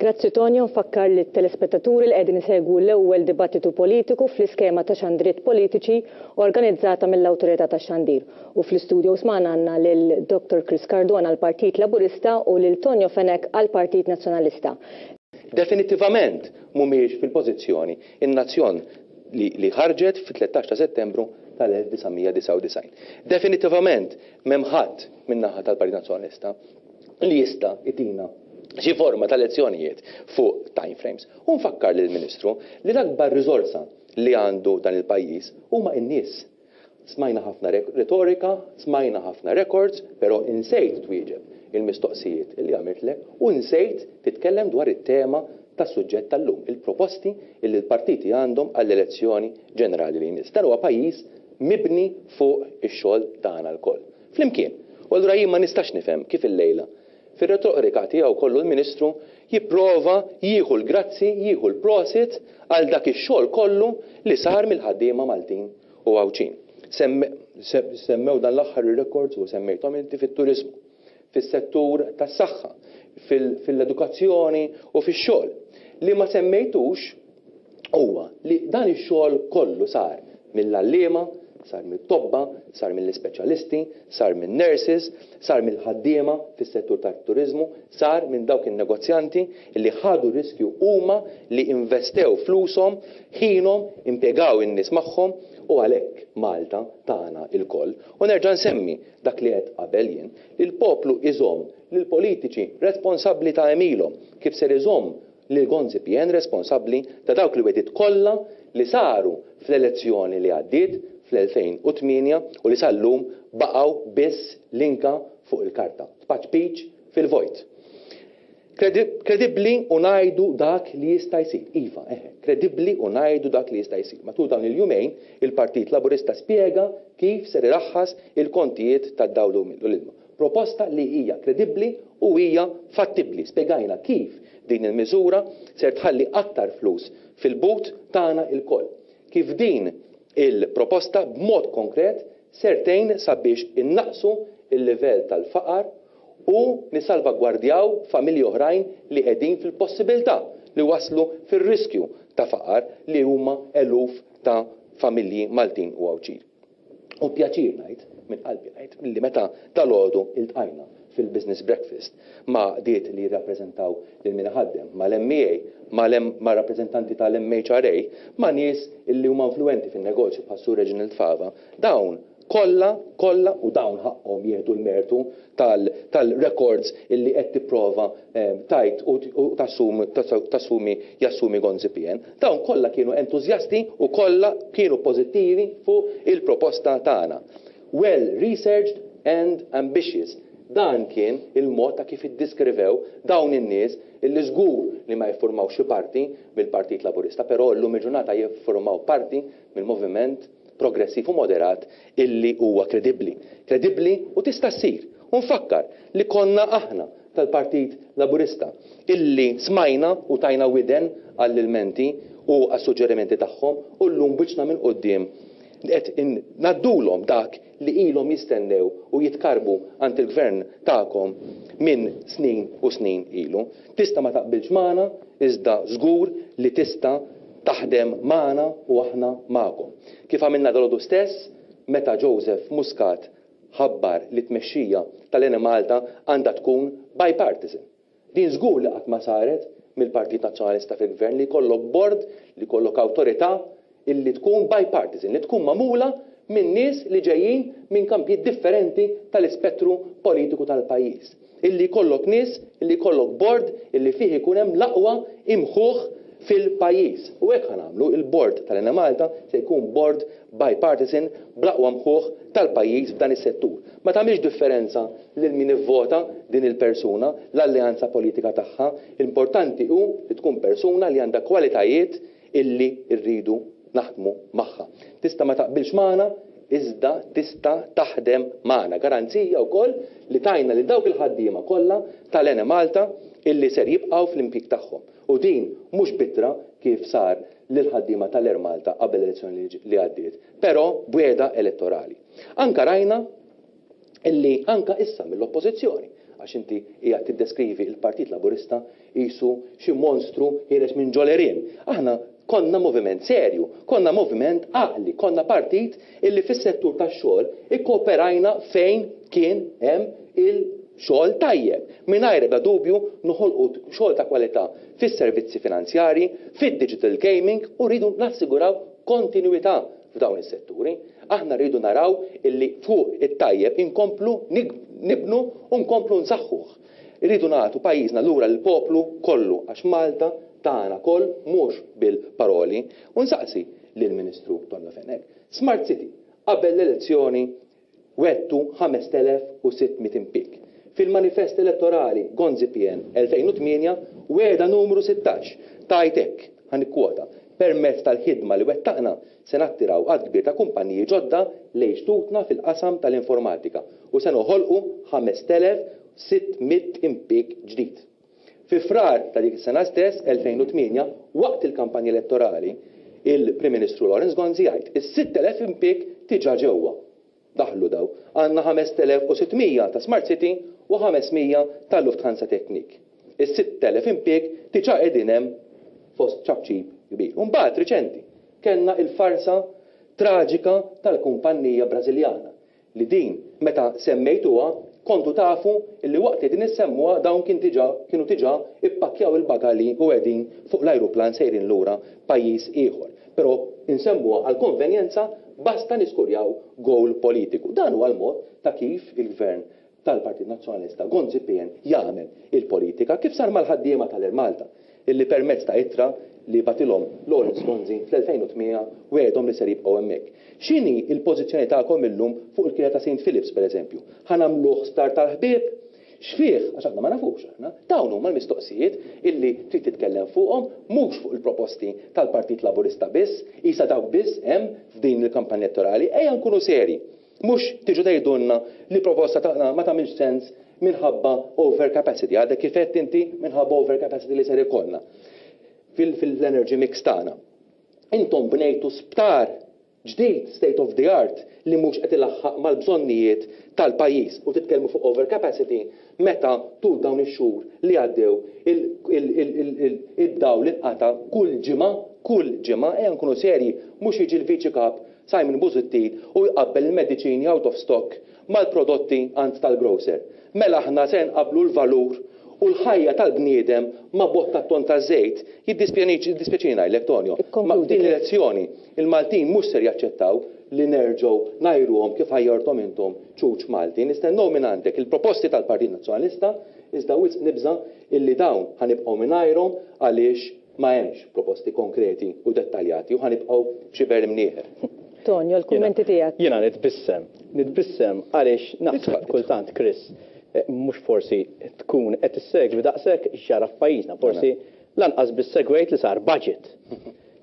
Grazzi Tonio, nfakkar lit-telespettaturi li qegħdin isegwu l-ewwel dibattitu politiku fl-iskema ta' xandriet politiċi organizzata mill-Awtorità tax-Xandir. U fl-istudios magħna għandna lil Dottor Chris Cardona għall-Partit Laburista u lil Tonio Fenech għall-Partit Nazzjonalista. Definittivament mhumiex fil-pożizzjoni in-nazzjon li li ħarġet fit-13 ta' Settembru tal-1999. Definittivament m'hemm ħadd min-naħa tal-Partit Nazzjonalista li jista' jtina xi forma ta' lezzjonijiet fuq time frames. U nfakkar lill-Ministru li l-akbar riżorsa li għandu dan il-pajjiż huma n-nies. Smajna ħafna retorika, smajna ħafna records, però insejt twieġeb il-mistoqsijiet li għamiltlek u nsejt titkellem dwar it-tema tas-suġġett tal-lum, il-proposti li l-partiti għandhom għall-elezzjoni ġenerali li jmiss. Dan huwa pajjiż mibni fuq ix-xogħol tagħna lkoll. Flimkien. U allura jien ma nistax nifhem kif illejla, fir-retorika tiegħu kollu l-Ministru jipprova jieħu l-grazzi, jieħu l-prosit għal dak ix-xogħol kollu li sar mill-ħaddiema Maltin u Għawdxin. Semmew dan l-aħħar ir-rekords u semmejthom inti fit-turiżmu, fis-settur tas-saħħa, fil-edukazzjoni u fix-xogħol. Li ma semmejtux huwa li dan ix-xogħol kollu sar mill-għalliema, sar mit-tobba, sar mill-ispeċjalisti, sar min-nurses, sar mill-ħaddiema fis-settur tat-turiżmu, sar minn dawk in-negozjanti li ħadu r-riskju huma li investew flushom, ħinhom, impjegaw in-nies magħhom u għalhekk Malta tagħna lkoll. U nerġa' nsemmi dak li għedt qabel jien, li l-poplu iżomm lill-politiċi responsabbli ta' għemilhom, kif ser iżomm lil Gonzi PN responsabbli ta' dawk il-wegħdiet kollha li saru fl-elezzjoni li għaddiet. fl-2008 u li sal-lum baqgħu biss linka fuq il-karta, tpaċpiċ fil-vojt. Kredibbli u ngħidu dak li jista' jsir. Iva, eħe, kredibbli u ngħidu dak li jista' jsir. Matul dawn il-jumejn, il-Partit Laburista spjega kif ser iraħħas il-kontijiet tad-dawl u l-ilma. Proposta li hija kredibbli u hija fattibbli. Spjegajna kif din il-miżura ser tħalli aktar flus fil-but tagħna lkoll. Kif din il-proposta b'mod konkret ser tgħin sabiex innaqqsu l-livell tal-faqar u nissalvagwardjaw familji oħrajn li qegħdin fil-possibilità li waslu fir-riskju ta' faqar li huma eluf ta' familji Maltin u Għawdxin. U pjaċir ngħid, minn qalbi ngħid, li meta dalgħodu iltqajna fil-business breakfast ma' għaqdiet li jirrappreżentaw lil min iħaddem, mal-MEA, ma' rappreżentanti tal-MHRA, ma' nies li huma influwenti fin-negozju bħas-Sur Reginald Fava, dawn kollha, kollha, u dawn ħaqqhom jieħdu l-mertu tal-records illi qed tipprova tgħid u tassumi jassumi Gonzi PN, dawn kollha kienu entużjasti u kollha kienu pożittivi fuq il-proposta tagħna. Well researched and ambitious. Dan kien il-mod ta' kif iddiskrivew dawn in-nies illi żgur li ma jiffurmawx xi parti mill-Partit Laburista, però llum il-ġurnata jiffurmaw parti mill-moviment progressiv u moderat illi huwa kredibbli. Kredibbli u tista' ssir. U nfakkar li konna aħna tal-Partit Laburista illi smajna u tajna widen għall-ilmenti u għas-suġġerimenti tagħhom u llum b'wiċċna minn quddiem qed ngħaddulhom dak li ilhom jistennew u jitkarrbu għand il-Gvern tagħkom minn snin u snin ilu. Tista' ma taqbilx magħna iżda żgur li tista' taħdem magħna u aħna magħkom. Kif għamilna dalgħodu stess meta Joseph Muscat ħabbar li t-tmexxija tal-Enemalta għandha tkun bipartisan. Din żgur li qatt ma saret mill-Partit Nazzjonalista fil-Gvern li jkollok bord, li jkollok awtorità illi tkun bipartisan, li tkun magħmula minn nies li ġejjin minn kampijiet differenti tal-ispettru politiku tal-pajjiż. Illi jkollok nies, illi jkollok bord illi fih ikun hemm l-aqwa imħuħ fil-pajjiż. U hekk ħa nagħmlu, il-bord tal-Enemalta se jkun bord bipartisan bl-aqwa mħuħ tal-pajjiż f'dan is-settur. Ma tagħmilx differenza lil min ivvota din il-persuna, l-alleanza politika tagħha, l-importanti hu li tkun persuna li għandha kwalitajiet illi rridu naħdmu magħha. Tista' ma taqbilx magħna, iżda tista' taħdem magħna. Garanzija wkoll li tajna lil dawk il-ħaddiema kollha tal-Enemalta illi ser jibqgħu fl-impjieg tagħhom. U din mhux b'ittra kif sar lill-ħaddiema tal-Air Malta qabel l-elezzjoni li għaddiet, però b'wiegħda elettorali. Anke rajna illi anke issa mill-Oppożizzjoni, għax inti qiegħed tiddeskrivi l-Partit Laburista qisu xi monstru ħiereġ minn ġo l-għerien. Aħna konna moviment serju, konna moviment għaqli, konna partit illi fis-settur tax-xogħol ikkooperajna fejn kien hemm il-xogħol tajjeb. Mingħajr ebda dubju noħolqu xogħol ta' kwalità fis-servizzi finanzjarji, fid-digital gaming u rridu nassiguraw kontinwità f'dawn is-setturi. Aħna rridu naraw illi fuq it-tajjeb inkomplu nibnu u nkomplu nsaħħuh. Irridu nagħtu pajjiżna lura lill-poplu kollu għax Malta tagħna koll mhux bil-paroli. U nsaqsi lill-Ministru Tonio Fenech, Smart City, qabel l-elezzjoni Wegħdtu 5,600 impieg. Fil-manifest elettorali Gonzi PN 2008, wegħda numru 16 tgħid hekk, ħa nikkwota, Permezz tal-ħidma li wettaqna se nattiraw għadd kbir ta' kumpaniji ġodda lejn xtutna fil-qasam tal-informatika u se noħolqu 5,600 impieg ġdid. Fi Frar ta' dik is-sena stess, 2008, waqt il-kampanja elettorali, il-Prim Ministru Lawrence Gonzi jgħid, Is-6,000 impieg diġà ġewwa. Daħlu daw. Għandna 5,600 ta' Smart City u 500 ta' Lufthansa Technik. Is-6,000 impieg diġà qegħdin hemm fost ċapċip kbir. U mbagħad riċenti kellna il-farsa traġika tal-kumpannija Brażiljana li din meta semmejtuha kontu tafu li waqt li qegħdin issemmuha dawn kien diġà kienu diġà ippakkjaw il-bagalji u qegħdin fuq l-ajruplan sejrin lura pajjiż ieħor. Però insemmuha għall-konvenjenza basta niskurjaw goal politiku. Dan huwa l-mod ta' kif il-Gvern tal-Partit Nazzjonalista Gonzi PN jagħmel il-politika, kif sar mal-ħaddiema tal-Air Malta. illi permezz ta' ittra li bagħtilhom Lawrence Gonzi fl-2008 wegħedhom li ser jibqgħu hemmhekk. X'inhi l-pożizzjoni tagħkom illum fuq il-kirja ta' Saint Philips pereżempju? Ħa nagħmluh sptar tal-ħbieb? X'fih? Għax aħna ma nafux aħna. Dawn huma l-mistoqsijiet illi trid titkellem fuqhom, mhux fuq il-proposti tal-Partit Laburista biss, qisha dawk biss hemm f'din il-kampanja elettorali. Ejja nkunu serji. Mhux tiġu tgħidulna li proposta tagħna ma tagħmilx sens minħabba overcapacity. Għadek kif għedt inti minħabba overcapacity li ser ikollna fil-energy mix tagħna. Intom bnejtu sptar ġdid, state of the art, li mhux qed ilaħħaq mal-bżonnijiet tal-pajjiż u titkellmu fuq overcapacity meta tul dawn ix-xhur li għaddew id-dawl inqata' kull ġimgħa, kull ġimgħa, ejja nkunu serji, mhux jiġi l-Viċi Kap Simon Busuttil u jqabbel il-mediċini out of stock mal-prodotti għand tal-grocer. Mela aħna ser nqabblu l-valur u l-ħajja tal-bniedem ma' bott tat-tonn taż-żejt? Jiddispjaċini ngħidlek, Tonio, ma f'din l-elezzjoni il-Maltin mhux ser jaċċettaw li nerġgħu ngħajruhom kif għajjarthom intom ċuċ Malti. Nistennew mingħandek il-proposti tal-Partit Nazzjonalista iżda wisq nibża' illi dawn ħa nibqgħu mingħajrhom għaliex Ma hemmx proposti konkreti u dettaljati u ħa nibqgħu f'xiber imnieħer. Tonio, l-kummenti tiegħek. Jiena nitbissem. Nitbissem għaliex naħseb kultant, Chris, mhux forsi tkun qed issegwi daqshekk x'ġara f'pajjiżna, forsi lanqas biss segwejt li sar budget.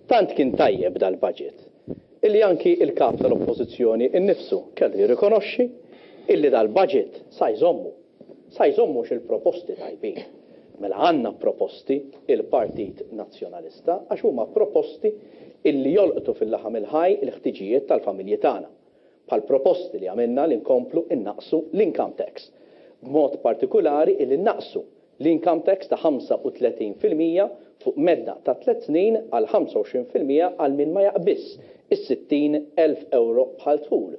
Tant kien tajjeb dal-budget, illi anki l-Kap tal-Oppożizzjoni nnifsu kellu jirrikonoxxi illi dal-budget sa jżommu. Sa jżommux il-proposti tajbin. Mela għandna proposti il-Partit Nazzjonalista għax huma proposti illi jolqtu fil-laħam il-ħaj il-ħtiġijiet tal-familji tagħna. Bħal proposti li għamilna li nkomplu nnaqqsu l-income tax. B'mod partikulari illi nnaqqsu l-income tax ta' 35% fuq medda ta' tlett snin għal 25% għal min ma jaqbiżx is-60,000 ewro bħal dħul.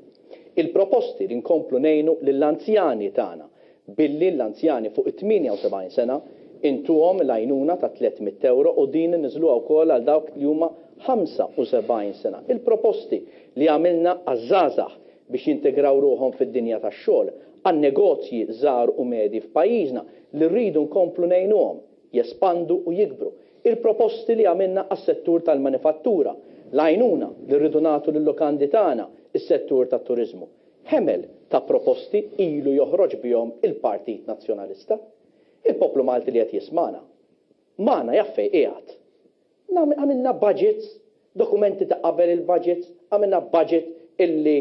Il-proposti li nkomplu ngħinu lill-anzjani tagħna billi l-anzjani fuq it-78 sena intuhom l-għajnuna ta' 300 ewro u din inniżluha wkoll għal dawk li huma 75 sena. Il-proposti li għamilna għaż-żgħażagħ biex jintegraw ruħhom fid-dinja tax-xogħol, għan-negozji żgħar u medji f'pajjiżna li rridu nkomplu ngħinuhom jespandu u jikbru. Il-proposti li għamilna għas-settur tal-manifattura, l-għajnuna li rridu nagħtu lil-lukandi tagħna, is-settur tat-turiżmu. Ħemel ta' proposti ilu joħroġ bihom il-Partit Nazzjonalista. Il-poplu Malti li qed jismagħna, magħna jaf fejn qiegħed. Għamilna budgets, dokumenti ta' qabel il-budgets, għamilna budget illi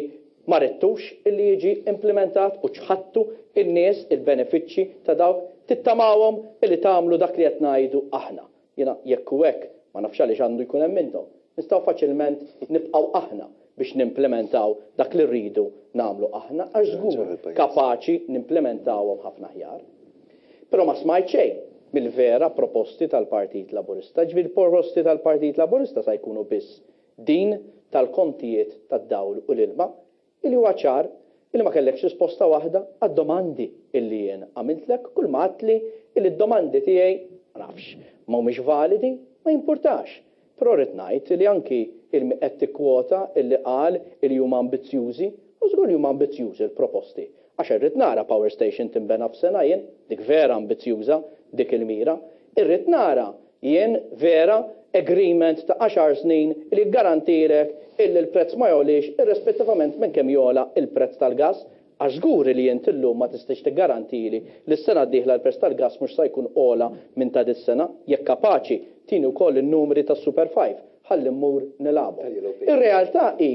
ma ridtux illi jiġi implimentat u ċħadtu n-nies il-benefiċċji ta' dawk, tittamawhom illi tagħmlu dak li qed ngħidu aħna. Jiena jekk hu hekk, ma nafx għaliex għandu jkun hemm intom. Nistgħu faċilment nibqgħu aħna biex nimplimentaw dak li rridu nagħmlu aħna għax żgur kapaċi nimplimentawhom ħafna aħjar. Però ma smajt xejn mill-vera proposti tal-Partit Laburista. Jiġifieri l-proposti tal-Partit Laburista sa jkunu biss din tal-kontijiet tad-dawl u l-ilma, illi huwa ċar illi ma kellekx risposta waħda għad-domandi illi jien għamiltlek, kull ma għadtli illi d-domandi tiegħi, ma nafx, ma humiex validi, ma jimpurtax. Però rrid ngħid illi anki il qed tikkwota illi qal illi huma ambizzjużi, u żgur li huma ambizzjużi l-proposti. Għax irrid nara power station tinbena f'sena jien, dik vera ambizzjuża dik il-mira. Irrid nara jien vera agreement ta' għaxar snin li jiggarantilek illi l-prezz ma jogħliex irrespettivament minn kemm jogħla l-prezz tal-gass. Għax żgur li int illum ma tistax tiggarantili li s-sena d-dieħla l-prezz tal-gass mhux sa jkun ogħla minn ta' dis-sena. Jekk kapaċi, tini wkoll in-numri tas-Super Five ħalli mmur nilgħabhom. Ir-realtà hi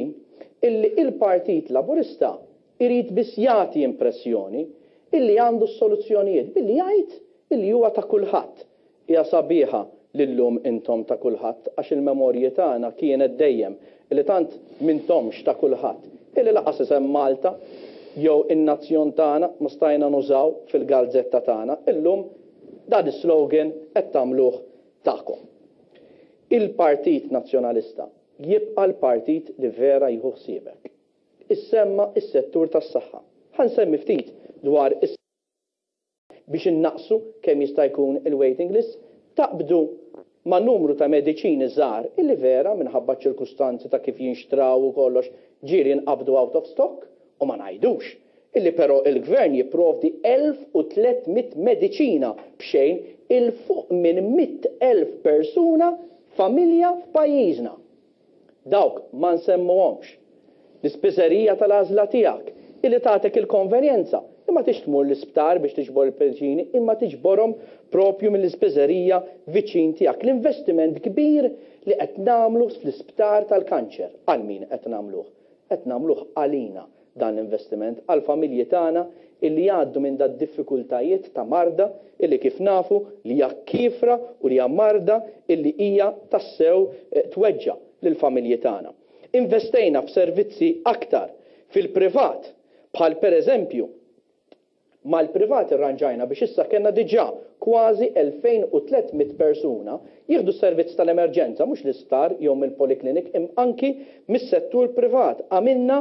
illi il-Partit Laburista Irid biss jagħti impressjoni illi għandu s-soluzzjonijiet billi jgħid illi huwa ta' kulħadd. Hija sabiħa li llum intom ta' kulħadd għax il-memorji tagħna kienet dejjem illi tant m'intomx ta' kulħadd illi lanqas isem Malta jew in-nazzjon tagħna ma stajna nużaw fil-galzetta tagħna. Illum dan is-slogan qed tagħmluh tagħkom. Il-Partit Nazzjonalista jibqa' l-partit li vera jieħu ħsiebek. Issemma s-settur tas-saħħa. Ħa nsemmi ftit dwar is biex innaqqsu kemm jista' jkun il-waiting lists, taqbdu ma' numru ta' mediċini żgħar illi vera minħabba ċ-ċirkustanzi ta' kif jinxtraw u kollox ġieli jinqabdu out of stock u ma ngħidux. Illi però il-Gvern jipprovdi 1,300 mediċina b'xejn 'il fuq minn 100,000 persuna familja f'pajjiżna. Dawk ma nsemmuhomx. L-ispiżerija tal-għażla tiegħek, illi tagħtek il-konvenjenza li ma tridx tmur l-isptar biex tiġbor il-mediċini imma tiġborhom proprju mill-ispiżerija viċin tiegħek. L-investiment kbir li qed nagħmlu fl-isptar tal-kanċer, għal min qed nagħmluh? Qed nagħmluh għalina dan l-investiment, għall-familji tagħna illi jgħaddu minn dad-diffikultajiet ta' marda illi kif nafu li hija kiefra u li hija marda illi hija tassew tweġġa' lill-familji tagħna. Investejna f'servizzi aktar fil-privat bħal pereżempju Mal-privat irranġajna biex issa kellna diġà kważi 2,300 persuna jieħdu s-servizz tal-emerġenza mhux l-isptar jew mill-polyclinic imma anki mis-settur privat. Għamilna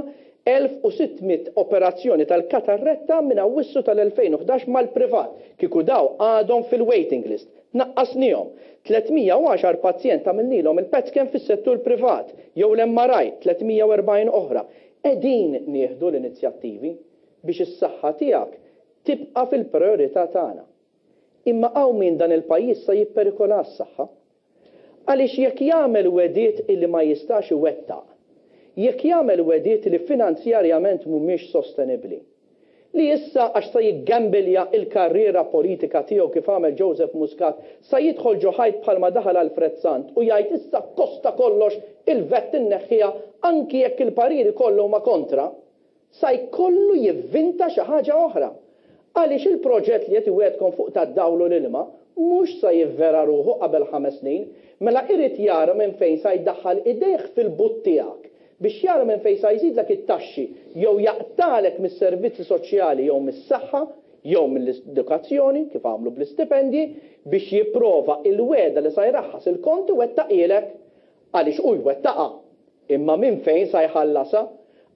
1,600 operazzjoni tal-katarretta minn Awwissu tal-2011 mal-privat. Kieku daw għadhom fil-waiting list. Naqqasniehom. 310 pazjent għamilnilhom il-PET scan fis-settur privat jew l-MRI, 340 oħra. Qegħdin nieħdu l-inizjattivi. biex is-saħħa tiegħek tibqa' fil-prijorità tagħna. Imma hawn min dan il-pajjiż sa jipperikola s-saħħa. Għaliex jekk jagħmel wegħdiet illi ma jistax iwettaq, jekk jagħmel wegħdiet li finanzjarjament mhumiex sostenibbli, li issa għax sa jiggambilja il-karriera politika tiegħu kif għamel Joseph Muscat sa jidħol ġo ħajt bħalma daħal Alfred Sant u jgħid issa akkosta kollox il-VAT inneħħiha anki jekk il-pariri kollha huma kontra, Sa jkollu jivvinta xi ħaġa oħra. Għaliex il-proġett li qed iwiegħdkom fuq tad-dawl u l-ilma mhux sa jivvera ruħu qabel ħames snin, mela irid jara minn fejn sa jdaħħal idejh fil-but tiegħek biex jara minn fejn sa jżidlek it-taxxi jew jaqtagħlek mis-servizzi soċjali jew mis-saħħa jew mill-edukazzjoni, kif għamlu bl-istipendji, biex jipprova il-wegħda li sa jraħħas il-kont iwettaqhielek. Għaliex hu jwettaqha. Imma minn fejn sa jħallasha?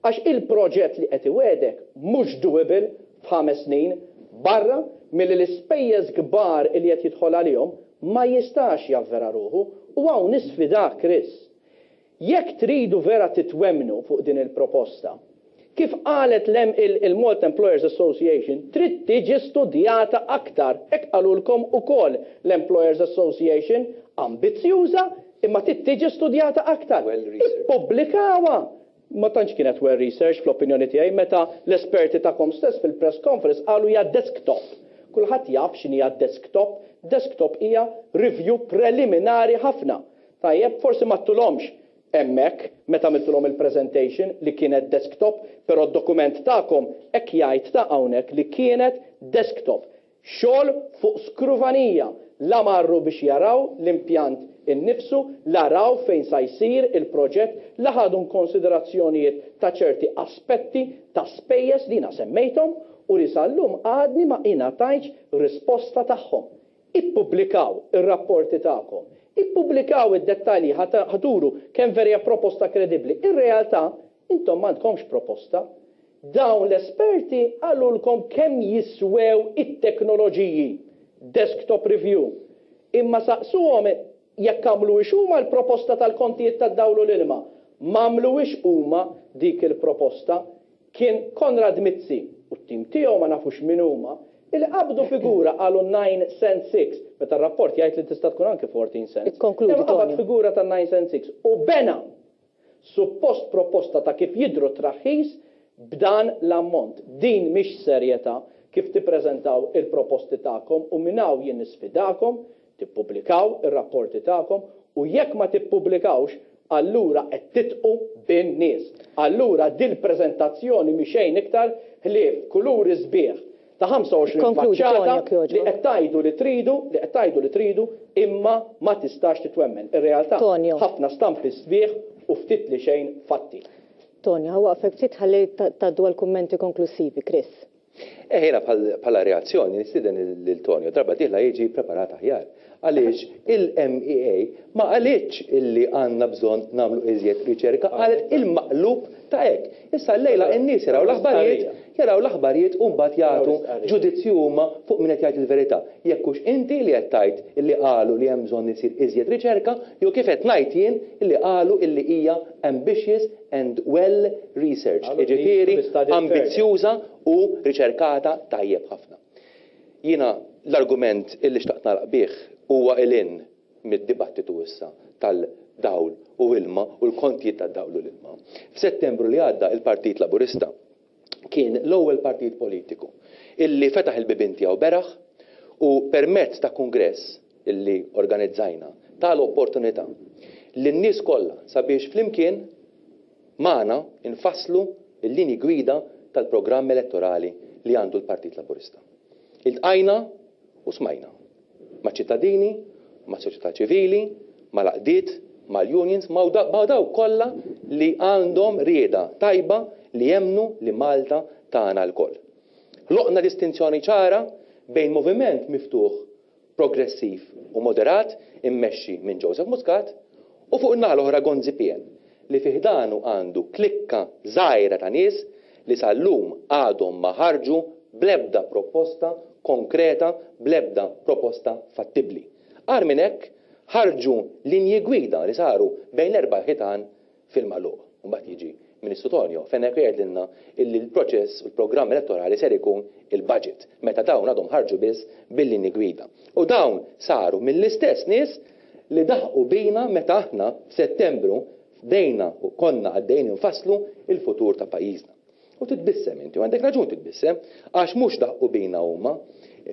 Għax il-proġett li qed iwiegħdek mhux doable f'ħames snin, barra milli l-ispejjeż kbar li qed jidħol għalihom ma jistax javvera ruħu. U hawn nisfidak Chris. Jekk tridu vera titwemmnu fuq din il-proposta, kif qalet il-Malta Employers Association, trid tiġi studjata aktar. Hekk qalulkom ukoll l-Employers Association, ambizzjuża imma trid tiġi studjata aktar. Ippubblikawha! Ma tantx kienet well researched fl-opinjoni tiegħi meta l-esperti tagħkom stess fil-press conference qalu hija desktop. Kulħadd jaf x'inhija desktop. Desktop hija review preliminari ħafna. Tajjeb, forsi m'għadtulhomx hemmhekk meta għamiltulhom il-presentation li kienet desktop, però d-dokument tagħkom hekk jgħid ta' hawnhekk li kienet desktop. Xogħol fuq skruvanija, la marru biex jaraw l-impjant innifsu, la raw fejn sa jsir il-proġett, la ħadu inkonsiderazzjonijiet ta' ċerti aspetti ta' spejjeż li jiena semmejthom u li sal-lum għadni ma ingħatajtx risposta tagħhom. Ippubblikaw ir-rapporti tagħkom. Ippubblikaw id-dettalji ħa turu kemm vera hija proposta kredibbli. Ir-realtà, intom m'għandkomx proposta. Dawn l-esperti qalulkom kemm jiswew it-teknoloġiji, desktop review, imma saqsuhom jekk għamluhiex huma l-proposta tal-kontijiet tad-dawl u l-ilma. M'għamluhiex huma dik il-proposta. Kien Konrad Mizzi u t-tim tiegħu ma nafux min huma, illi qabdu figura qalu 9 cent 6, meta r-rapport jgħid li tista' tkun anki 14 cents. Ikkonkludi, Imma qabad Tonio. figura ta' 9 cent 6 u bena suppost proposta ta' kif jidhru t-traħħis b'dan l-ammont. Din mhix serjetà kif tippreżentaw il-proposti tagħkom u minn hawn jien nisfidakom Tippubblikaw ir-rapporti tagħkom u jekk ma tippubblikawx allura qed tidqu bin-nies. Allura dil-preżentazzjoni mhi xejn iktar ħlief kuluri sbieħ ta' 25 Ikkonkludi, Tony, faċċata jekk li jogħġbok. qed tgħidu li tridu, li qed tgħidu li tridu imma ma tistax titwemmen. Ir-realtà Tonio. ħafna stampi sbieħ u ftit li xejn fatti. Tonio, ħa waqfek ftit ħalli tgħaddu għall-kummenti konklussivi. Chris. Eh jiena bħala reazzjoni nistieden lil Tonio darba dieħla jiġi preparat aħjar. Għaliex il-MEA ma qalitx illi għandna bżonn nagħmlu iżjed riċerka, qalet il-maqlub ta' hekk. Issa llejla n-nies jaraw l-aħbarijiet, jaraw l-aħbarijiet u mbagħad jagħtu ġudizzju huma fuq min qed jgħid il-verità. Jekk hux inti li qed tgħid illi qalu li hemm bżonn isir iżjed riċerka jew kif qed ngħid jien illi qalu illi hija ambitious and well researched, jiġifieri ambizzjuża u riċerkata tajjeb ħafna. Jiena l-argument illi xtaqt nagħlaq bih huwa 'il hinn mid-dibattitu issa tal-dawl u ilma u l-kontijiet tad-dawl u l-ilma. F'Settembru li għadda il-Partit Laburista kien l-ewwel partit politiku illi fetaħ il-bibien tiegħu beraħ u permezz ta' kungress illi organizzajna ta l-opportunità lin-nies kollha sabiex flimkien magħna nfasslu l-linji gwida tal-programm elettorali li għandu l-Partit Laburista. Iltqajna u smajna maċ-ċittadini, mas-soċjetà ċivili, mal-għaqdiet, mal-unions, ma' dawk kollha li għandhom rieda tajba li jemmnu li Malta tagħna lkoll. Ħloqna distinzjoni ċara bejn moviment miftuħ progressiv u moderat immexxi minn Joseph Muscat u fuq in-naħa l-oħra Gonzi PN li fi ħdanu għandu klikka żgħira ta' nies li sal-lum għadhom ma ħarġu bl-ebda proposta konkreta, bl-ebda proposta fattibbli. Agħar minn hekk, ħarġu linji gwida li saru bejn l-erba' ħitan fil-magħluq. U mbagħad jiġi Ministru Tonio Fenech u jgħidilna illi l-proċess u l-programm elettorali ser ikun il-budget, meta dawn għadhom ħarġu biss bil-linji gwida. U dawn saru mill-istess nies li daħqu bina meta aħna f'Settembru bdejna u konna għaddejjin infasslu l-futur ta' pajjiżna. U titbissem inti, u għandek raġun titbissem, għax mhux daħqu bina huma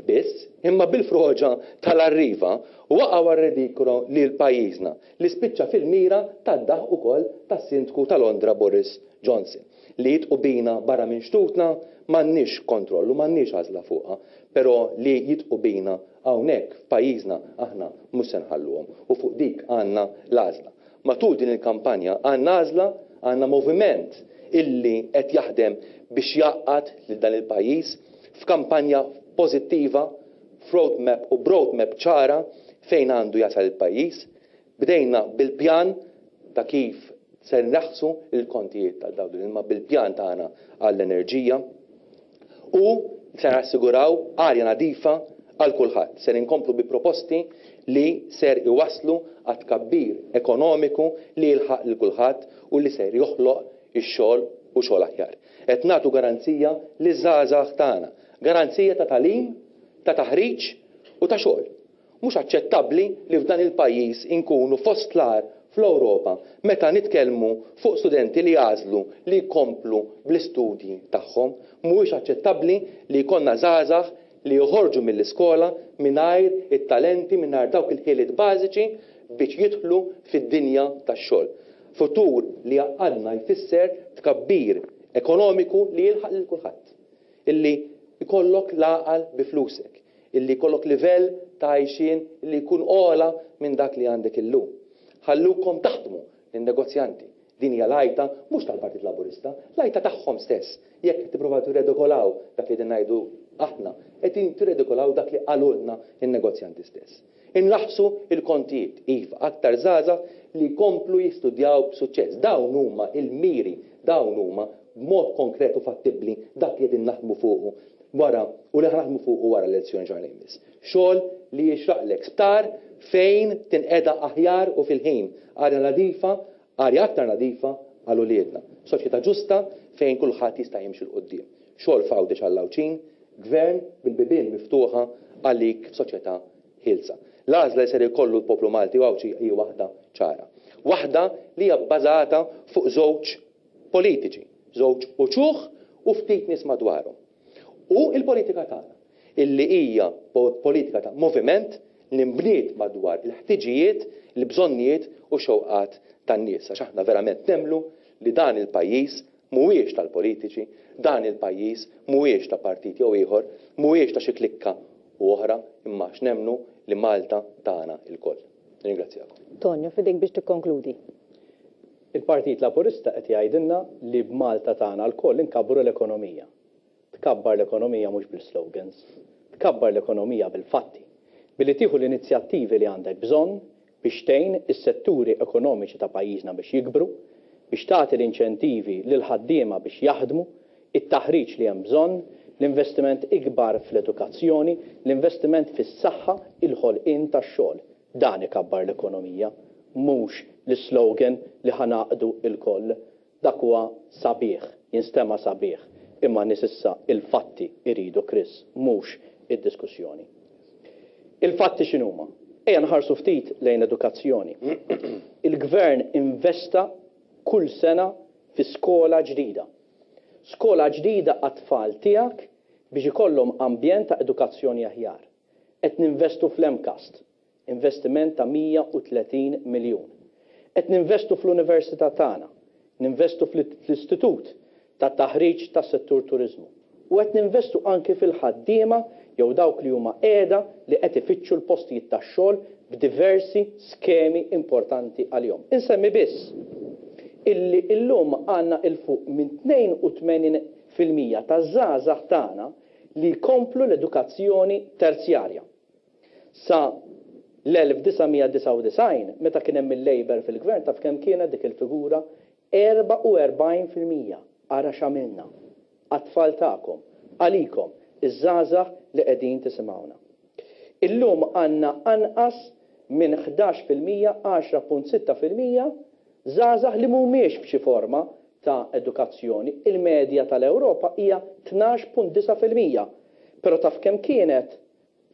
biss, imma bil-froġa tal-Arriva waqgħu għar-redikolo lil pajjiżna li spiċċa fil-mira tad-daħq ukoll tas-Sindku ta' Londra Boris Johnson. Li jidqu bina barra minn xtutna m'għandniex kontroll u m'għandniex għażla fuqha, però li jidqu bina hawnhekk f'pajjiżna aħna mhux se nħalluhom u fuq dik għandna l-għażla. Matul din il-kampanja għandna għażla, għandna moviment illi qed jaħdem biex jgħaqqad lil dan il-pajjiż f'kampanja pożittiva, f'roadmap u b'roadmap ċara fejn għandu jasal il-pajjiż. Bdejna bil-pjan ta' kif se nraħħsu l-kontijiet tad-dawl u l-ilma, bil-pjan tagħna għall-enerġija u se nassiguraw arja nadifa għal kulħadd. Ser inkomplu bi proposti li ser iwasslu għat-tkabbir ekonomiku li jilħaq lil kulħadd u li ser joħloq ix-xogħol u xogħol aħjar. Qed nagħtu garanzija liż-żgħażagħ tagħna, garanzija ta' tagħlim, ta' taħriġ u ta' xogħol. Mhux aċċettabbli li f'dan il-pajjiż inkunu fost l-agħar fl-Ewropa meta nitkellmu fuq studenti li jagħżlu li jkomplu bl-istudji tagħhom. Mhuwiex aċċettabbli li jkollna żgħażagħ li joħorġu mill-iskola mingħajr it-talenti, mingħajr dawk il-ħiliet bażiċi biex jidħlu fid-dinja tax-xogħol. Futur li jgħaqqadna jfisser tkabbir ekonomiku li jilħaq lil kulħadd. Illi jkollok l-għaqal bi flusek. Illi jkollok livell ta' għajxien li jkun ogħla minn dak li għandek illum. Ħallukom taħdmu lin-negozjanti. Din hija l-għajta mhux tal-Partit Laburista, l-għajta tagħhom stess. Jekk qed tippruvaw tirredikolaw dak li qegħdin ngħidu aħna, qegħdin tirredikolaw dak li qalulna n-negozjanti stess. Inraħħsu l-kontijiet, iva, aktar żgħażagħ li jkomplu jistudjaw b'suċċess. Dawn huma l-miri, dawn huma b'mod konkret u fattibbli dak li qegħdin naħdmu fuqu wara u li ħa naħdmu fuqu wara l-elezzjoni ġenerali li jmiss. Xogħol li jixraqlek, sptar fejn tinqeda aħjar u fil-ħin, arja nadifa, arja aktar nadifa għal uliedna. Soċjetà ġusta fejn kulħadd jista' jimxi 'l quddiem. Xogħol f'Għawdex għall-Għawdxin, gvern bil-bibien miftuħa għalik f'soċjetà ħielsa. L-għażla li ser ikollu l-poplu Malti u Għawdxi hi waħda ċara. Waħda li hija bbażata fuq żewġ politiċi, żewġ uċuħ u ftit nies madwarhom. U l-politika tagħna, illi hija politika ta' moviment li nbniet madwar il-ħtiġijiet, il-bżonnijiet u x-xewqat tan-nies. Għax aħna verament nemmnu li dan il-pajjiż mhuwiex tal-politiċi, dan il-pajjiż mhuwiex ta' partit jew ieħor, mhuwiex ta' xi klikka u oħra, imma għax nemmnu li Malta tagħna lkoll. Nirringrazzjakom. Tonio, f'idejk biex tikkonkludi. Il-Partit Laburista qed jgħidilna li b'Malta tagħna lkoll inkabbru l-ekonomija. Tkabbar l-ekonomija mhux bl-islogans. Tkabbar l-ekonomija bil-fatti. Billi tieħu l-inizjattivi li għandek bżonn biex tgħin is-setturi ekonomiċi ta' pajjiżna biex jikbru, biex tagħti l-inċentivi lill-ħaddiema biex jaħdmu, it-taħriġ li hemm bżonn, l-investiment ikbar fl-edukazzjoni, l-investiment fis-saħħa, il-ħolqien tax-xogħol. Dan ikabbar l-ekonomija, mhux l-islogan li ħa ngħaqdu lkoll. Dak huwa sabiħ, jinstema' sabiħ, imma n-nies issa il-fatti jridu Chris, mhux id-diskussjoni. Il-fatti x'inhuma? Ejja nħarsu ftit lejn l-edukazzjoni. Il-Gvern investa kull sena fi skola ġdida. Skola ġdida għat-tfal tiegħek biex ikollhom ambjent ta' edukazzjoni aħjar. Qed ninvestu fl-MCAST, investiment ta' 130 miljun. Qed ninvestu fl-Università tagħna, ninvestu fl-Istitut ta' Taħriġ tas-Settur Turiżmu u qed ninvestu anki fil-ħaddiema jew dawk li huma qiegħda li qed ifittxu l-postijiet tax-xogħol b'diversi skemi importanti għalihom. Insemmi biss illi illum għandna 'il fuq minn 82% taż-żgħażagħ tagħna li jkomplu l-edukazzjoni terzjarja. Sa l-1999, meta kien hemm il-Labour fil-Gvern, taf kemm kienet dik il-figura? 44%. Ara x'għamilna. Għat-tfal tagħkom. Għalikom, iż-żgħażagħ li qegħdin tisimgħuna. Illum għandna anqas minn 11%, 10.6%, żgħażagħ li mhumiex f'xi forma ta' edukazzjoni. Il-medja tal-Ewropa hija 12.9%. Però taf kemm kienet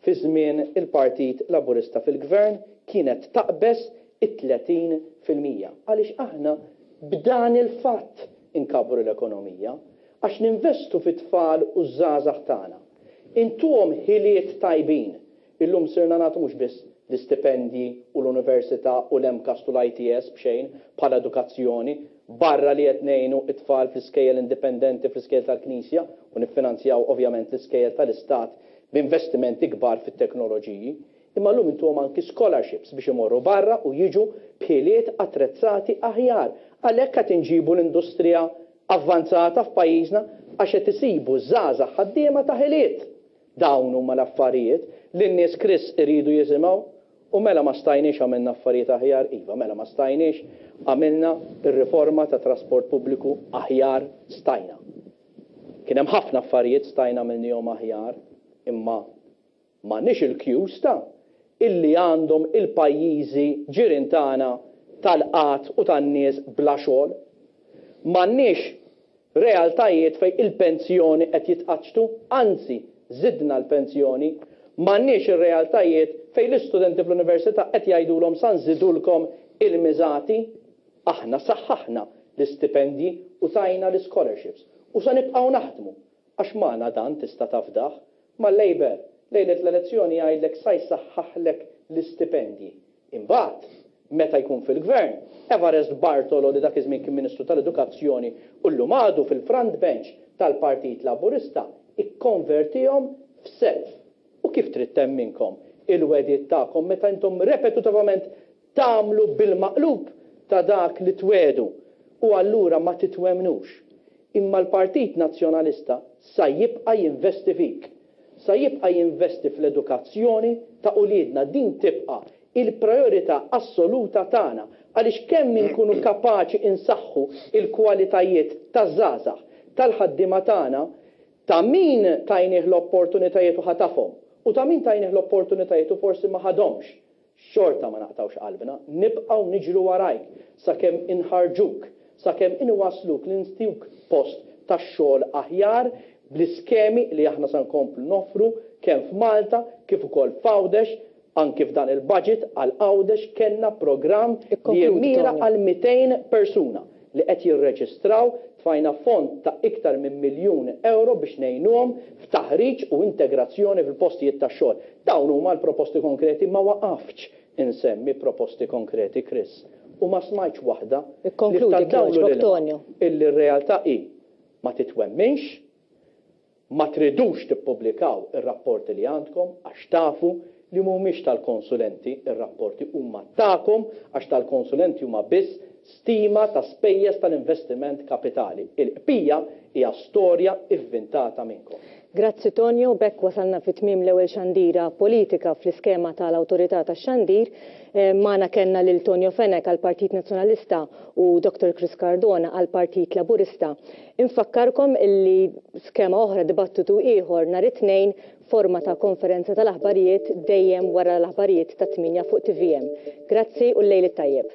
fi żmien il-Partit Laburista fil-Gvern kienet taqbeż it-30%. Għaliex aħna b'dan il-fatt inkabbru l-ekonomija. Għax ninvestu fit-tfal u ż-żgħażagħ tagħna. Intuhom ħiliet tajbin. Illum sirna nagħtu mhux biss l-istipendji u l-università u l-MCAST u l-ITS b'xejn bħala edukazzjoni, barra li qed ngħinu t-tfal fl-iskejjel indipendenti, fl-iskejjel tal-Knisja u niffinanzjaw ovvjament l-iskejjel tal-Istat b'investimenti kbar fit-teknoloġiji, imma llum intuhom anki scholarships biex imorru barra u jiġu b'ħiliet attrezzati aħjar. Għalhekk qed inġibu l-industrija avvanzata f'pajjiżna għax qed isibu żgħażagħ ħaddiema ta' ħiliet. Dawn huma l-affarijiet li n-nies Chris iridu jisimgħu. U mela ma stajniex għamilna affarijiet aħjar? Iva, mela ma stajniex għamilna r-riforma tat-trasport pubbliku aħjar? Stajna. Kien hemm ħafna affarijiet stajna għamilnihom aħjar, imma m'għandniex il-queues ta' illi għandhom il-pajjiżi ġirien tagħna tal-qgħad u tan-nies bla xogħol. M'għandniex realtajiet fejn il-pensjoni qed jitqaċċtu, anzi żidna l-pensjoni. M'għandniex ir-realtajiet fejn l-istudenti fl-università qed jgħidulhom sa nżidulkom il-miżati. Aħna saħħaħna l-istipendji u tajna l-ischolarships u se nibqgħu naħdmu għax magħna dan tista' tafdah. Mal-Labour, lejlet l-elezzjoni jgħidlek sa jsaħħaħlek l-istipendji. Imbagħad, meta jkun fil-Gvern, Evarest Bartolo li dak iż-żmien kien Ministru tal-Edukazzjoni u llum għadu fil-front bench tal-Partit Laburista ikkonvertihom f'self. U kif trid temminkom il-wegħdiet tagħkom meta intom repetutavament Tagħmlu bil-maqlub ta' dak li twiegħdu u allura ma titwemmnux. Imma l-Partit Nazzjonalista sa jibqa' jinvesti fik. Sa jibqa' jinvesti fl-edukazzjoni ta' uliedna. Din tibqa' il-prijorità assoluta tagħna għaliex kemm inkunu kapaċi insaħħu l-kwalitajiet taż-żgħażagħ, tal-ħaddiema tagħna, ta' min tajnih l-opportunitajiet u ħatafhom u ta' min tajnih l-opportunitajiet u forsi ma ħadhomx. Xorta ma naqtgħux qalbna, nibqgħu niġru warajk sakemm inħarrġuk, sakemm inwassluk li ntik post tax-xogħol aħjar bl-iskemi li aħna se nkomplu noffru kemm f'Malta kif ukoll f'Għawdex, anki f'dan il-budget għal Għawdex kellna programm li jimmira għal 200 persuna li qed jirreġistraw, tfajna fond ta' iktar minn miljun ewro biex ngħinuhom f'taħriġ u integrazzjoni fil-postijiet tax-xogħol. Dawn huma l-proposti konkreti, ma waqaftx insemmi proposti konkreti Chris u ma smajtx waħda li Ikkonkludi f'ta' dawl u jogħġbok l-ilma Tonio. illi r-realtà hi ma titwemminx, Ma tridux tippubblikaw ir-rapporti li għandkom għax tafu li mhumiex tal-konsulenti r-rapporti huma tagħkom għax tal-konsulenti huma biss Stima ta' spejjeż tal-investiment kapitali. Il-qbija hija storja ivvintata minnkom. Grazzi Tonio, b'hekk wasalna fi tmiem l-ewwel xandira politika fl-iskema tal-Awtorità tax-Xandir. Magħna kellna lil Tonio Fenech għall-Partit Nazzjonalista u Dottor Chris Cardona għall-Partit Laburista. Infakkarkom illi skema oħra dibattitu ieħor nhar it-Tnejn forma ta' konferenza tal-aħbarijiet dejjem wara l-aħbarijiet tat-tmienja fuq tvm. Grazzi u l-lejl it-tajjeb.